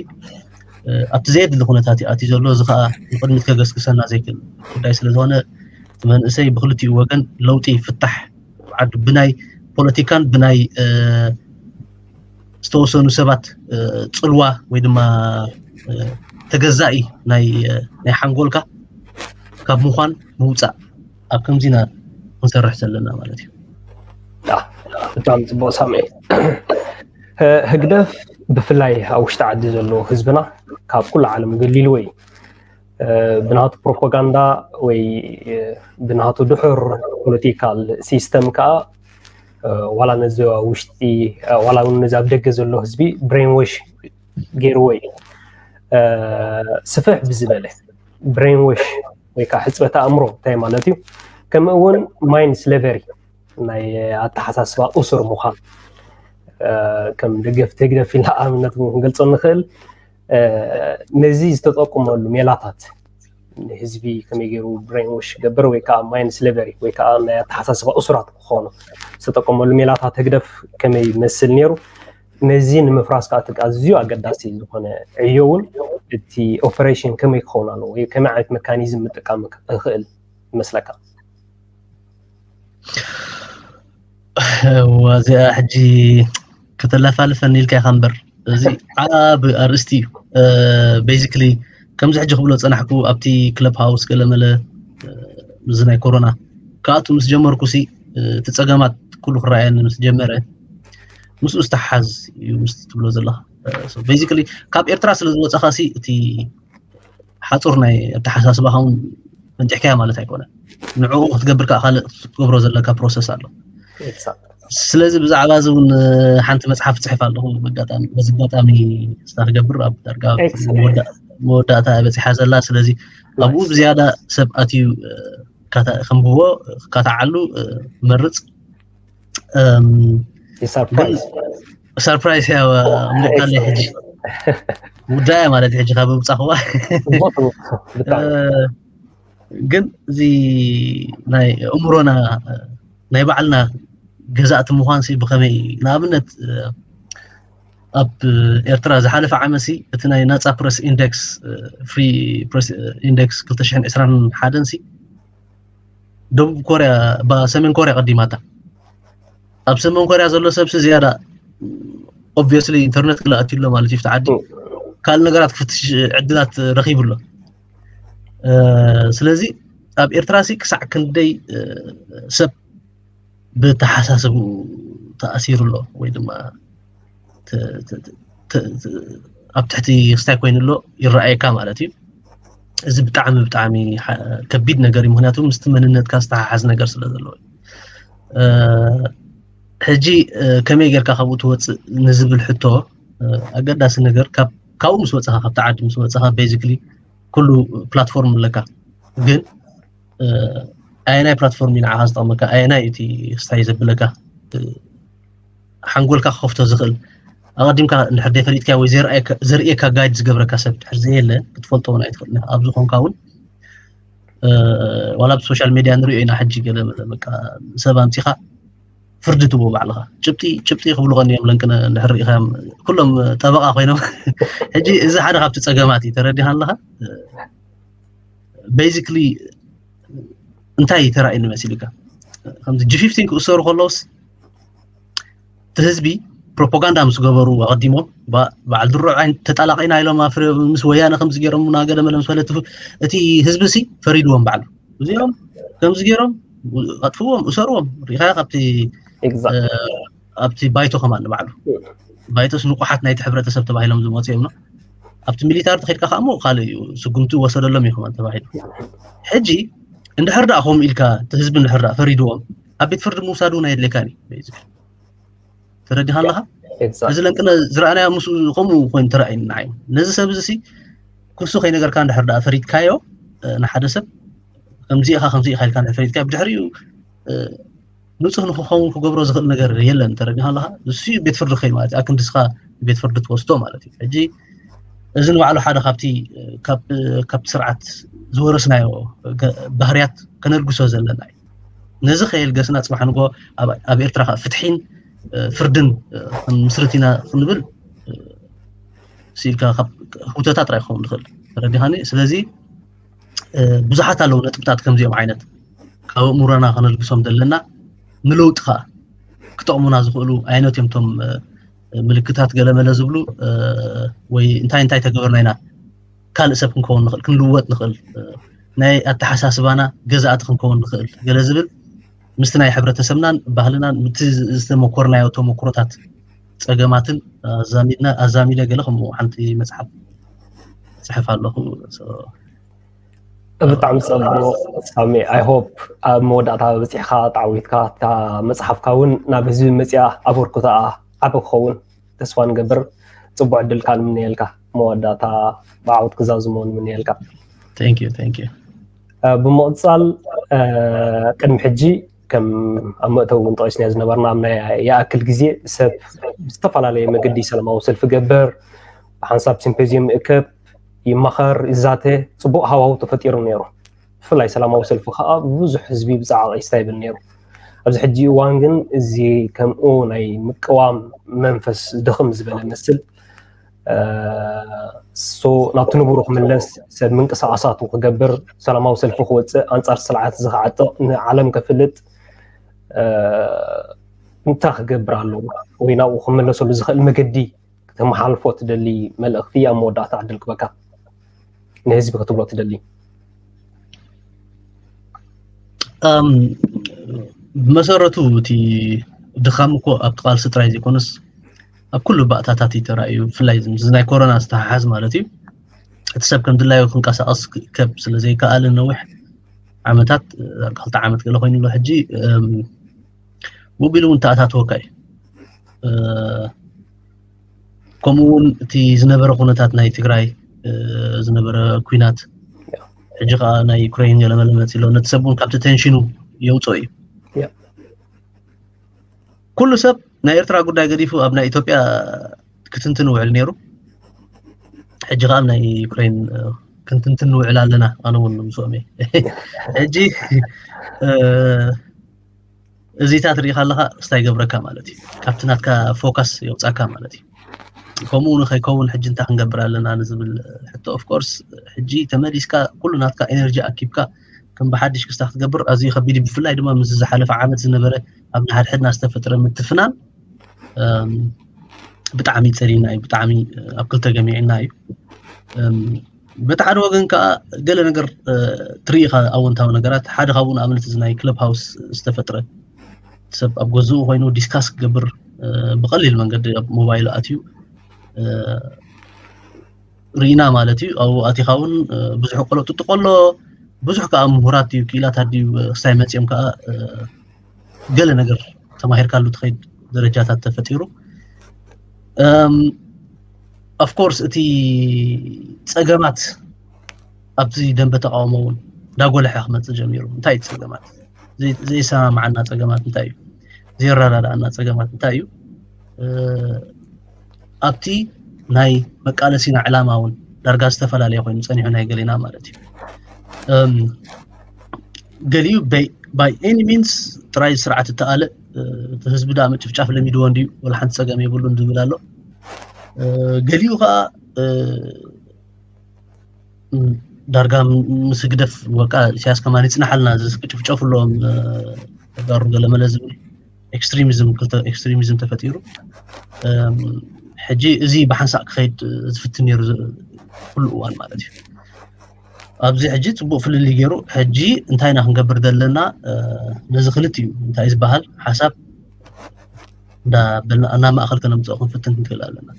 ኣብቲ ዘየድሊ ኩነታት እዩ ኣትዩ ዘሎ እዚ ከዓ ንቅድሚት ከገስግሰና ዘይክእል ጉዳይ ስለዝኮነ እቲ መንእሰይ ብክልቲኡ ወገን ለውጢ ፍታሕ ዓዱ ብናይ ፖለቲካን ብናይ ዝተወሰኑ ሰባት ፅልዋ ወይ ድማ ተገዛኢ ናይ ሓንጎልካ ካብ ምኳን ምውፃእ ኣብ ከምዚና ክንሰርሕ ዘለና ማለት እዩ ብጣዕሚ ፅቡቅ ሳምኤል ህግደፍ ብፍላይ ኣብ ውሽጢ ዓዲ ዘሎ ህዝብና ካብ ኩሉ ዓለም ገሊልዎ እዩ ብናቱ ፕሮፓጋንዳ ወይ ብናቱ ድሑር ፖለቲካል ሲስተም ከዓ ዋላ ነዚ ውሽጢ ዋላ እውን ነዚ ኣብ ደገ ዘሎ ህዝቢ ብሬንወሽ ገይርዎ እዩ ስፍሕ ብዝበለ ብሬንወሽ ወይ ከዓ ሕፅበት ኣእምሮ እንታይ ማለት እዩ ከምኡ እውን ማይንድ ስሌቨሪ ናይ ኣተሓሳስባ እሱር ምዃን ከም ደገፍቲ ህግደፍ ኢልና ኣብነት ክንገልፆ ንኽእል ነዚ ዝተጠቁመሉ ሜላታት ንህዝቢ ከመይ ገይሩ ብሬንወሽ ገብር ወይ ከዓ ማይንድ ስሌቨሪ ወይ ከዓ ናይ ኣተሓሳስባ እሱራት ክኾኑ ዝተጠቀመሉ ሜላታት ህግደፍ ከመይ ይመስል ነይሩ ነዚ ንምፍራስ ከዓ ኣዝዩ ኣገዳሲ ዝኾነ ዕዮ እውን እቲ ኦፐሬሽን ከመይ ክኸውን ኣለዎ ወይ ከመይ ዓይነት መካኒዝም ምጥቃም ይኽእል ይመስለካ እዚኣ ሕጂ ከተላፋልፈኒ ኢልካ ኢኻ እምበር እዚ ዓብ ኣርእስቲ እዩ basically ከምዚ ሕጂ ክብሎ ፀናሕኩ ኣብቲ ክለብ ሃውስ ገለመለ እዚ ናይ ኮሮና ካብኣቱ ምስ ጀመርኩ ሲ እቲ ፀገማት ኩሉ ክረኣየኒ ምስ ጀመረ ምስኡ ዝተሓዝ እዩ ምስ ትብሎ ዘለካ basically ካብ ኤርትራ ስለ ዝወፀኻ ሲ እቲ ሓፁር ናይ ኣተሓሳስባኻ እውን ፈንጢሕካያ ማለት ኣይኮነን። ንዕኡ ክትገብር ከዓ ካልእ ክትገብሮ ዘለካ ፕሮሰስ ኣሎ። ስለዚ ብዛዕባ እዚ እውን ሓንቲ መፅሓፍ ፅሕፍ ኣለኹ። በዚ ኣጋጣሚ ስታ ክገብር ኣብ ዳርጋ መወዳእታ በፂሓ ዘላ። ስለዚ ኣብኡ ብዝያዳ ሰብ ኣትዩ ከንብቦ፣ ክካታዓሉ መርፅ። ሰርፕራይዝ እያ ምልእካለይ ሕጂ ውዳያ ማለት ሕጂ ካብ ምብፃኽዋ። ግን እዚ ናይ ኣእምሮና ናይ ባዕልና ገዛእቲ ምዃን ሲ ብኸመይ? ንኣብነት ኣብ ኤርትራ ዝሓለፈ ዓመት ሲ እቲ ናይ ናጻ ፕረስ ኢንደክስ፣ ፍሪ ፕረስ ኢንደክስ ክልተ ሽሕን ዕስራን ሓደን ሲ ደቡብ ኮርያ፣ ሰሜን ኮርያ ቀዲማታ። ኣብ ሰሜን ኮርያ ዘሎ ሰብ ሲ ዝያዳ ኦብቪየስሊ ኢንተርነት ክልኣት ኣሎ ማለት እዩ። ዓዲ ካልእ ነገራት ክፍትሽ ዕድላት ረኺቡ ኣሎ። ስለዚ ኣብ ኤርትራ ሲ ክሳዕ ክንደይ ሰብ ብተሓሳስቡ ተኣሲሩ ኣሎ ወይ ድማ ኣብ ትሕቲ ክስታይ ኮይኑ ኣሎ ይረኣየካ ማለት እዩ። እዚ ብጣዕሚ ብጣዕሚ ከቢድ ነገር እዩ። ምክንያቱ ምስቲ መንነትካ ዝተሓሓዝ ነገር ስለ ዘለዎ። ሕጂ ከመይ ጌርካ ካብኡ ትወፅእ ንዝብል ሕቶ ኣገዳሲ ነገር ካብኡ ምስ ወፅኻ፣ ካብቲ ዓዲ ምስ ወፅኻ ቤዚክሊ ኩሉ ፕላትፎርም ኣለካ። ግን ኣየናይ ፕላትፎርም እዩ ንዓኻ ዝጠቕመካ? ኣየናይ እቲ ስታይ ዘብለካ ሓንጎልካ ክኸፍቶ ዝኽእል? ኣቐዲምካ እንድሕር ደይፈሊጥካ ወይ ዘርእየካ ጋይድ ዝገብረካ ሰብ ድሕር ዘየለ ክትፈልጦ እውን ኣይትኽእል። ኣብዚ ኮንካ እውን ዋላ ብሶሻል ሜድያ ንሪኦ ኢና ሕጂ ገለ በቃ ሰብ ኣምፂኻ ፍርዲ ትቦ ባዕልኻ ጭብጢ ጭብጢ ክብሉ ቀንዮም ለንቅነ እንድሕር ርኢኻዮም ኩሎም ጠበቓ ኮይኖም ሕጂ እዚ ሓደ ካብቲ ፀገማት እዩ። ተረዲኻ ኣለኻ? ቤዚክሊ እንታይ ተራእዩኒ መሲልካ? ከምዚ ጂ ፊፍቲን ክእሰሩ ከለውስ እቲ ህዝቢ ፕሮፓጋንዳ ምስ ገበሩ ኣቐዲሞም በዓል ድሮ ዓይን ተጣላቒና ኢሎም ምስ ወያነ ከምዚ ገይሮም ናገደ መለ ምስ ፈለትፉ እቲ ህዝቢ ሲ ፈሪድዎም ባዕሉ እዚኦም ከምዚ ገይሮም ኣጥፍዎም እሰርዎም ሪኢኻ ካብቲ ኣብቲ ባይቶ ከማን ንባዕሉ ባይቶስ ንቑሓት ናይቲ ሕብረተሰብ ተባሂሎም ዝመፁ እዮም። ኣብቲ ሚሊታሪ ተኸድካ ከዓ እሞ ካልእ እዩ ስጉምቲ ወሰደሎም እዩ ከማን ተባሂሉ። ሕጂ እንድሕር ደኣ ከምኡ ኢልካ እቲ ህዝቢ እንድሕር ደኣ ፈሪድዎም ኣብ ቤት ፍርዲ ምውሳድ እውን ኣየድልየካን እዩ። ተረዲኻ ኣለኻ? እዚ ለንቅነ ዝረኣናዮ ምስ ከምኡ ኮይኑ ተረኣይኒ ንዓይ ነዚ ሰብ እዚ ክሱ ከይነገርካ እንድሕር ደኣ ፈሪድካዮ ንሓደ ሰብ ከምዚ ኢኻ ከምዚ ኢኻ ኢልካ እንድሕር ፈሪድካዮ ብድሕሪኡ ንፁህ ንክኸውን ክገብሮ ዝኽእል ነገር የለን። ተረዲኻ ኣለኻ? ንሱ ቤት ፍርዲ ከይኑ ማለት እዩ። ኣክንዲ ንስኻ ቤት ፍርዲ ትወስዶ ማለት እዩ። ሕጂ እዚ ንባዕሉ ሓደ ካብቲ ካብቲ ስርዓት ዝወረስናዮ ባህርያት ከነልግሶ ዘለና እዩ። ነዚ ከየልገስና ፅባሕ ንጎ ኣብ ኤርትራ ከዓ ፍትሒን ፍርድን ክንምስርት ኢና ክንብል ስኢልካ ካብ ህውተታ ጥራይ ክኸውን ዝኽእል ተረዲኻኒ። ስለዚ ብዙሓት ኣለዉ ነጥብታት ከምዚኦም ዓይነት ካብ ኣእምሮና ከነልግሶም ዘለና ንለውጢ ከዓ ክጠቕሙና ዝኽእሉ ዓይነት እዮም። እቶም ምልክታት ገለመለ ዝብሉ ወይ እንታይ እንታይ ተገበርና ኢና ካልእ ሰብ ክንከውን ንኽእል ክንልወጥ ንኽእል ናይ ኣተሓሳስባና ገዛእቲ ክንከውን ንኽእል ገለ ዝብል ምስቲ ናይ ሕብረተሰብናን ባህልናን ምስቲ ዝተመኮርናዮ ተመክሮታት ፀገማትን ኣዛሚድና ኣዛሚደ ገለ ከምኡ ሓንቲ መፅሓፍ ፅሕፍ ኣለኹ። ብጣዕሚ ፀቡቕ ሳሚ። I hope ኣብ መወዳእታ በፂሕካ ተዓዊትካ እታ መፅሓፍካ እውን ናብ ህዝቢ መፅያ ኣበርክቶኣ ዓቢ ክኸውን ተስፋ ንገብር። ፅቡቅ ዕድል ከዓ ንምነየልካ። መወዳእታ ብዓወት ክዛዝሞ ንምነየልካ። Thank you, thank you። ብምቕፃል ቅድሚ ሕጂ ከም ኣብ መእተዊ እውን ጠቂስናዮ ዝነበርና ኣብ ናይ ይኣክል ግዜ ሰብ ብዝተፈላለየ መገዲ ሰላማዊ ሰልፊ ገበር ብሓንሳብ ሲምፖዚየም ይእከብ ይማኸር ይዛተ ፅቡቅ ሃዋሁ ተፈጢሩ ነይሩ። ብፍላይ ሰላማዊ ሰልፊ ከዓ ብዙሕ ህዝቢ ብፃዕቂ ይስታይብል ነይሩ። ኣብዚ ሕጂ እዋን ግን እዚ ከምኡ ናይ ምቅዋም መንፈስ ድኽም ዝበለ መስል ሶ ናብቲ ንቡሩ ክምለስ ሰብ ምንቅስቃሳቱ ክገብር ሰላማዊ ሰልፊ ክወፅእ ኣንፃር ስርዓት እዚ ክዓጥቕ ንዓለም ከፍልጥ እንታይ ክገብር ኣለዎ ወይ ናብኡ ክምለሰሉ ዝኽእል መገዲ ክተመሓልፎ ትደሊ መልእኽቲ ኣብ መወዳእታ ዕድል ክበካ ንህዝቢ ክትብሎ ትደሊ? ብመሰረቱ እቲ ድኻም እኮ ኣብቲ ቃልሲ ጥራይ ዘይኮነስ ኣብ ኩሉ ባእታታት እዩ ተራእዩ። ብፍላይ እዚ ናይ ኮሮና ዝተሓሓዝ ማለት እዩ። እቲ ሰብ ከም ድላዩ ክንቀሳቐስ ከብ ስለ ዘይከኣልን ነዊሕ ዓመታት፣ ዳርጋ ክልተ ዓመት ገለ ኮይኑ ኣሎ። ሕጂ ውቢሉ እውን ተኣታትወካ እዩ። ከምኡ እውን እቲ ዝነበረ ኩነታት ናይ ትግራይ ዝነበረ ኩናት፣ ሕጂ ከዓ ናይ ዩክሬን ገለመለ መፂ ኣሎ። ነቲ ሰብ እውን ካብቲ ቴንሽኑ የውፅኦ እዩ። ኩሉ ሰብ ናይ ኤርትራ ጉዳይ ገዲፉ ኣብ ናይ ኢትዮጵያ ክትንትን ውዕል ነይሩ። ሕጂ ከዓ ኣብ ናይ ዩክሬን ክትንትን ውዕል ኣለና። ኣነ እውን ምስኦም እየ። ሕጂ እዚታት ሪኢኻ ኣለካ፣ እንታይ ይገብረካ ማለት እዩ። ካብቲ ናትካ ፎካስ የውፃካ ማለት እዩ። ከምኡ ንከይከውን ሕጂ እንታይ ክንገብር ኣለና ንዝብል ሕቶ፣ ኦፍኮርስ ሕጂ ተመሊስካ ኩሉ ናትካ ኤነርጂ ኣኪብካ ከም ብሓድሽ ክስታ ክትገብር ኣዝዩ ከቢድ እዩ። ብፍላይ ድማ ምስ ዝሓለፈ ዓመት ዝነበረ ኣብ ንሓድሕድና ዝተፈጥረ ምትፍናን ብጣዕሚ ፀሊና እዩ። ብጣዕሚ ኣብ ክልተ ገሚዕና እዩ። በቲ ሓደ ወገን ከዓ ገለ ነገር ትርኢኻ፣ ኣወንታዊ ነገራት። ሓደ ካብኡ ንኣብነት እዚ ናይ ክለብ ሃውስ ዝተፈጥረ፣ ሰብ ኣብ ገዝኡ ኮይኑ ዲስካስ ክገብር ብቀሊል መንገዲ ኣብ ሞባይሉ ኣትዩ ርኢና ማለት እዩ። ኣብኡ ኣቲኻ እውን ብዙሕ ቆሎ ጥጥቆሎ፣ ብዙሕ ከዓ ምሁራት ድዩ ክኢላታት ድዩ ክሳይ መፂኦም ከዓ ገለ ነገር ተማሂርካሉ ትኸይድ ደረጃታት ተፈጢሩ። ኦፍኮርስ እቲ ፀገማት ኣብዚ ደንበ ተቃውሞ እውን እንዳጎልሐ ክመፅእ ጀሚሩ። እንታይ እዩ ፀገማት? ዘይሰማማዓና ፀገማት እንታይ እዩ? ዘይረዳድኣና ፀገማት እንታይ እዩ? ኣብቲ ናይ መቃለሲና ዕላማ እውን ዳርጋ ዝተፈላለየ ኮይኑ ፀኒሑ ናይ ገሌና ማለት እዩ። ገሊኡ ባይ ኤኒ ሚንስ ጥራይ ስርዓት እተኣለ፣ እቲ ህዝቢ ዳ ምጭፍጫፍ ለሚድዎ እንድዩ፣ ወላ ሓንቲ ፀገም የብሉን ዝብል ኣሎ። ገሊኡ ከዓ ዳርጋ ምስ ህግደፍ፣ በቃ ኢሳያስ ከማን ይፅናሓልና፣ ዝጭፍጨፉ ኣለዎም ተጋሩ ገለመለ ዝብል ኤክስትሪሚዝም፣ ክልተ ኤክስትሪሚዝም ተፈጢሩ። ሕጂ እዚ ብሓንሳእ ክኸይድ ዝፍትን ነይሩ ኩሉ እዋን ማለት እዩ። ኣብዚ ሕጂ ፅቡቅ ፍልልይ ገይሩ፣ ሕጂ እንታይ ኢና ክንገብር ዘለና? ነዚ ክልቲኡ እንታይ ዝበሃል ሓሳብ እንዳበልና ናብ ማእኸል ከነምፅኦ ክንፍትን ክንክእል ኣለና።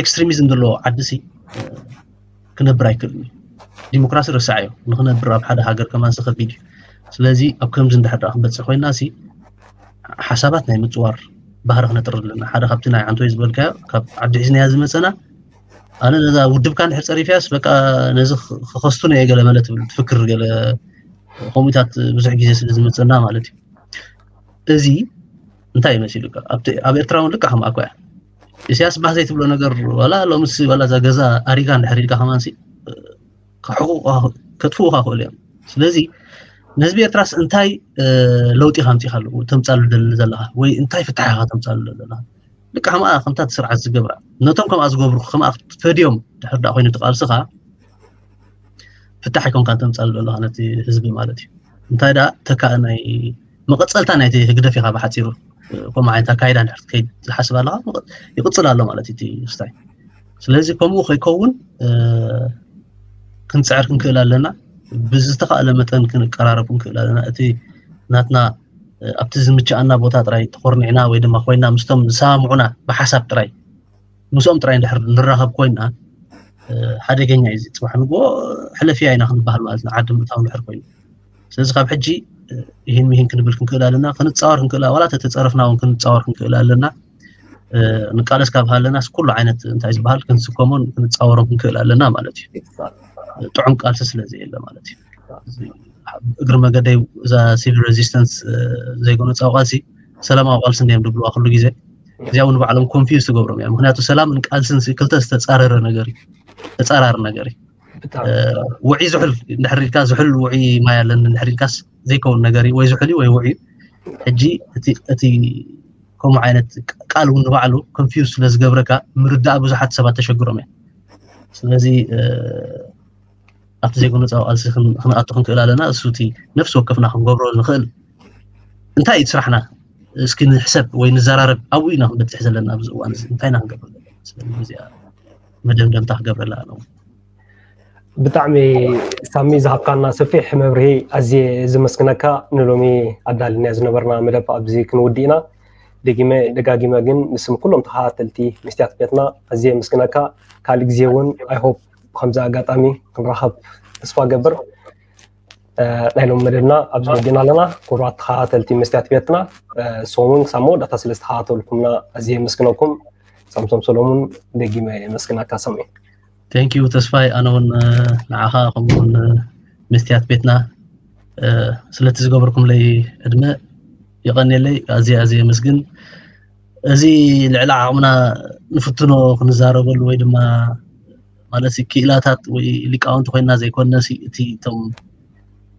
ኤክስትሪሚዝም ዘለዎ ዓዲ ሲ ክነብር ኣይክእልን እዩ። ዲሞክራሲ ረሳዕ እዩ። ንክነብር ኣብ ሓደ ሃገር ከማን ሲ ከቢድ እዩ። ስለዚ ኣብ ከምዚ እንድሕር ደኣ ክንበፅሕ ኮይና ሲ ሓሳባት ናይ ምፅዋር ባህሪ ክነጥር ኣለና። ሓደ ካብቲ ናይ ዓንቶይ ዝበልካዮ ካብ ዓዲ ሒዝናያ ዝመፀና፣ ኣነ ነዛ ውድብካ እንድሕር ፀሪፍያስ በቃ ነዚ ክኸስቱን እየ ገለ መለ ትብል ትፍክር ገለ ከምኡታት ብዙሕ ግዜ ስለ ዝመፀና ማለት እዩ። እዚ እንታይ እዩ መሲሉካ? ኣብ ኤርትራ እውን ልክዕ ከምኣ እኮ እያ። ኢሳያስ ባህ ዘይትብሎ ነገር ዋላ ሎምስ ዋላ እዛ ገዛ ኣሪጋ እንድሕር ኢልካ ከማንሲ ከጥፍኡኻ ክእሉ እዮም። ስለዚ ንህዝቢ ኤርትራስ እንታይ ለውጢ ከምፂኻ ኣለዎ ተምፃሉ ደሊ ዘለኻ ወይ እንታይ ፍትሓ ኢኻ ተምፃሉ ዘለኻ? ልክዕ ከምኣ ከምታ እቲ ስርዓት ዝገብራ ነቶም ከምኣ ዝገብሩ ከምኣ ክትፈድዮም ድሕር ዳ ኮይኑ ትቃልስኻ ፍታሕ ኣይኮንካን ተምፃሉ ዘለኻ ነቲ ህዝቢ ማለት እዩ። እንታይ ደኣ ተካእ ናይ መቐፀልታ ናይቲ ህግደፍ ኢኻ ብሓፂሩ። ከምኡ ዓይነት ኣካይዳ እንድሕር ትከይድ ዝሓስብ ኣለኻ ይቕፅል ኣሎ ማለት እዩ እቲ ስታይ። ስለዚ ከምኡ ከይከውን ክንፅዕር ክንክእል ኣለና። ብዝተኻእለ መጠን ክንቀራረብ ክንክእል ኣለና። እቲ ናትና ኣብቲ ዝምችኣና ቦታ ጥራይ ተኾርኒዕና ወይ ድማ ኮይና ምስቶም ዝሰማምዑና ብሓሳብ ጥራይ ምስኦም ጥራይ እንድሕር ንራኸብ ኮይና ሓደገኛ እዩ። ፅባሕ ንግሆ ሕለፍያ ኢና ክንበሃል ማለት ንዓዲ ምእታው እንድሕር ኮይኑ። ስለዚ ካብ ሕጂ ይህን ምሂን ክንብል ክንክእል ኣለና፣ ክንፃወር ክንክእል፣ ዋላ ተተፀረፍና እውን ክንፃወር ክንክእል ኣለና። ንቃለስ ካብ ሃለናስ ኩሉ ዓይነት እንታይ ዝበሃል ክንስከሞን ክንፃወሮን ክንክእል ኣለና ማለት እዩ። ጥዑም ቃልሲ ስለ ዘየለ ማለት እዩ። እግሪ መገደይ እዛ ሲቪል ሬዚስተንስ ዘይጎነፃዊ ቃልሲ ሰላማዊ ቃልሲ እንዲዮም ድብልዋ ኩሉ ግዜ። እዚኣ እውን ባዕሎም ኮንፊውዝ ትገብሮም እያ። ምክንያቱ ሰላምን ቃልስን ክልተ ዝተፃረረ ነገር እዩ፣ ተፃራሪ ነገር እዩ። ውዒ ዝሑል እንድሕር ኢልካ ዝሑል ውዒ ማይ ኣለኒ እንድሕር ኢልካስ ዘይከውን ነገር እዩ፣ ወይ ዝሑል እዩ ወይ ውዒ እዩ። ሕጂ እቲ ከምኡ ዓይነት ቃል እውን ንባዕሉ ኮንፊውዝ ስለ ዝገብረካ ምርዳእ ብዙሓት ሰባት ተሸግሮም እዮም። ስለዚ ኣብቲ ዘይጎነፃዊ ቃልሲ ክንኣቱ ክንክእል ኣለና። እሱ እቲ ነፍሲ ወከፍና ክንገብሮ ንኽእል እንታይ እዩ ስራሕና? እስኪ ንሕሰብ ወይ ንዘራረብ። ኣብኡ ኢና ክንበፅሕ ዘለና ኣብዚ እዋን እዚ እንታይ ኢና ክንገብር ዘለና? ስለዚ እዚኣ መደምደምታ ክገብረላ ኣለዎ። ብጣዕሚ ሳሚ ዝሃብካና ሰፊሕ መብርሂ ኣዝየ ዝመስግነካ። ንሎሚ ኣዳልናዮ ዝነበርና መደብ ኣብዚ ክንውድእ ኢና። ደጊመ ደጋጊመ ግን ንስም ኩሎም ተኸታተልቲ መስትያት ቤትና ኣዝየ የመስግነካ። ካልእ ግዜ እውን I hope ከምዚ ኣጋጣሚ ክንራኸብ ተስፋ ገብር። ናይ ሎም መደብና ኣብዚ ወዲና ኣለና። ክቡራት ተኸታተልቲ መስትያት ቤትና፣ ንስኹም እውን ክሳብ መወዳእታ ስለ ዝተኸታተልኩምና ኣዝየ የመስግነኩም። ሳምሶም ሰሎሙን፣ ደጊመ የመስግናካ ሳሚ። Thank you ተስፋይ፣ ኣነ እውን ንዓኻ ከምኡውን መስትያት ቤትና ስለቲ ዝገበርኩምለይ ዕድመ የቐንየለይ። ኣዝየ ኣዝየ የመስግን። እዚ ልዕሊ ዓቕምና ንፍትኖ ክንዛረበሉ ወይ ድማ ማለት ክኢላታት ወይ ሊቃውንቲ ኮይና ዘይኮነሲ እቲ እቶም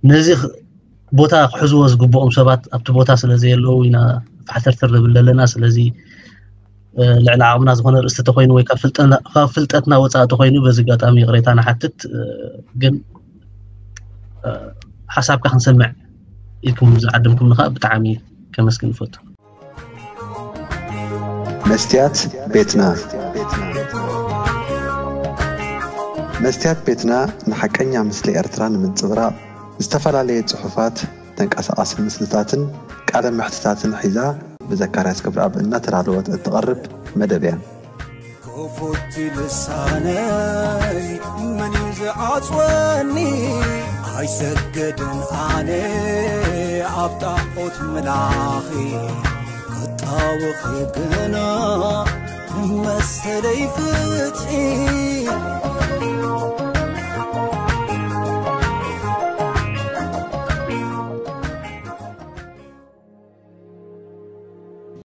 ነዚ ቦታ ክሕዝዎ ዝግብኦም ሰባት ኣብቲ ቦታ ስለ ዘየለዉ ኢና ፋሕተርተር ንብል ዘለና። ስለዚ ልዕሊ ዓቕምና ዝኾነ ርእስቲ ተኮይኑ ወይ ካብ ፍልጠትና ወፃእ ተኮይኑ በዚ ኣጋጣሚ ይቕሬታ ንሓትት። ግን ሓሳብካ ክንሰምዕ ኢልኩም ዝዓደምኩም ንኻ ብጣዕሚ ከመስግን ይፈቱ። መስትያት ቤትና መስትያት ቤትና ንሓቀኛ ምስሊ ኤርትራ ንምንጽብራቕ ዝተፈላለየ ጽሑፋት፣ ተንቀሳቓሲ ምስልታትን ቃለ መሕትታትን ሒዛ ብዘካርያስ ክብረኣብ እናተዳለወት እትቐርብ መደብ እያ። ክፉት ልሳነይ መን እዩ ዝዓጽወኒ? ኣይሰገድን ኣነ ኣብ ጣዖት ምላኺ ክጣወኺ ግና መሰለይ ፍትሒ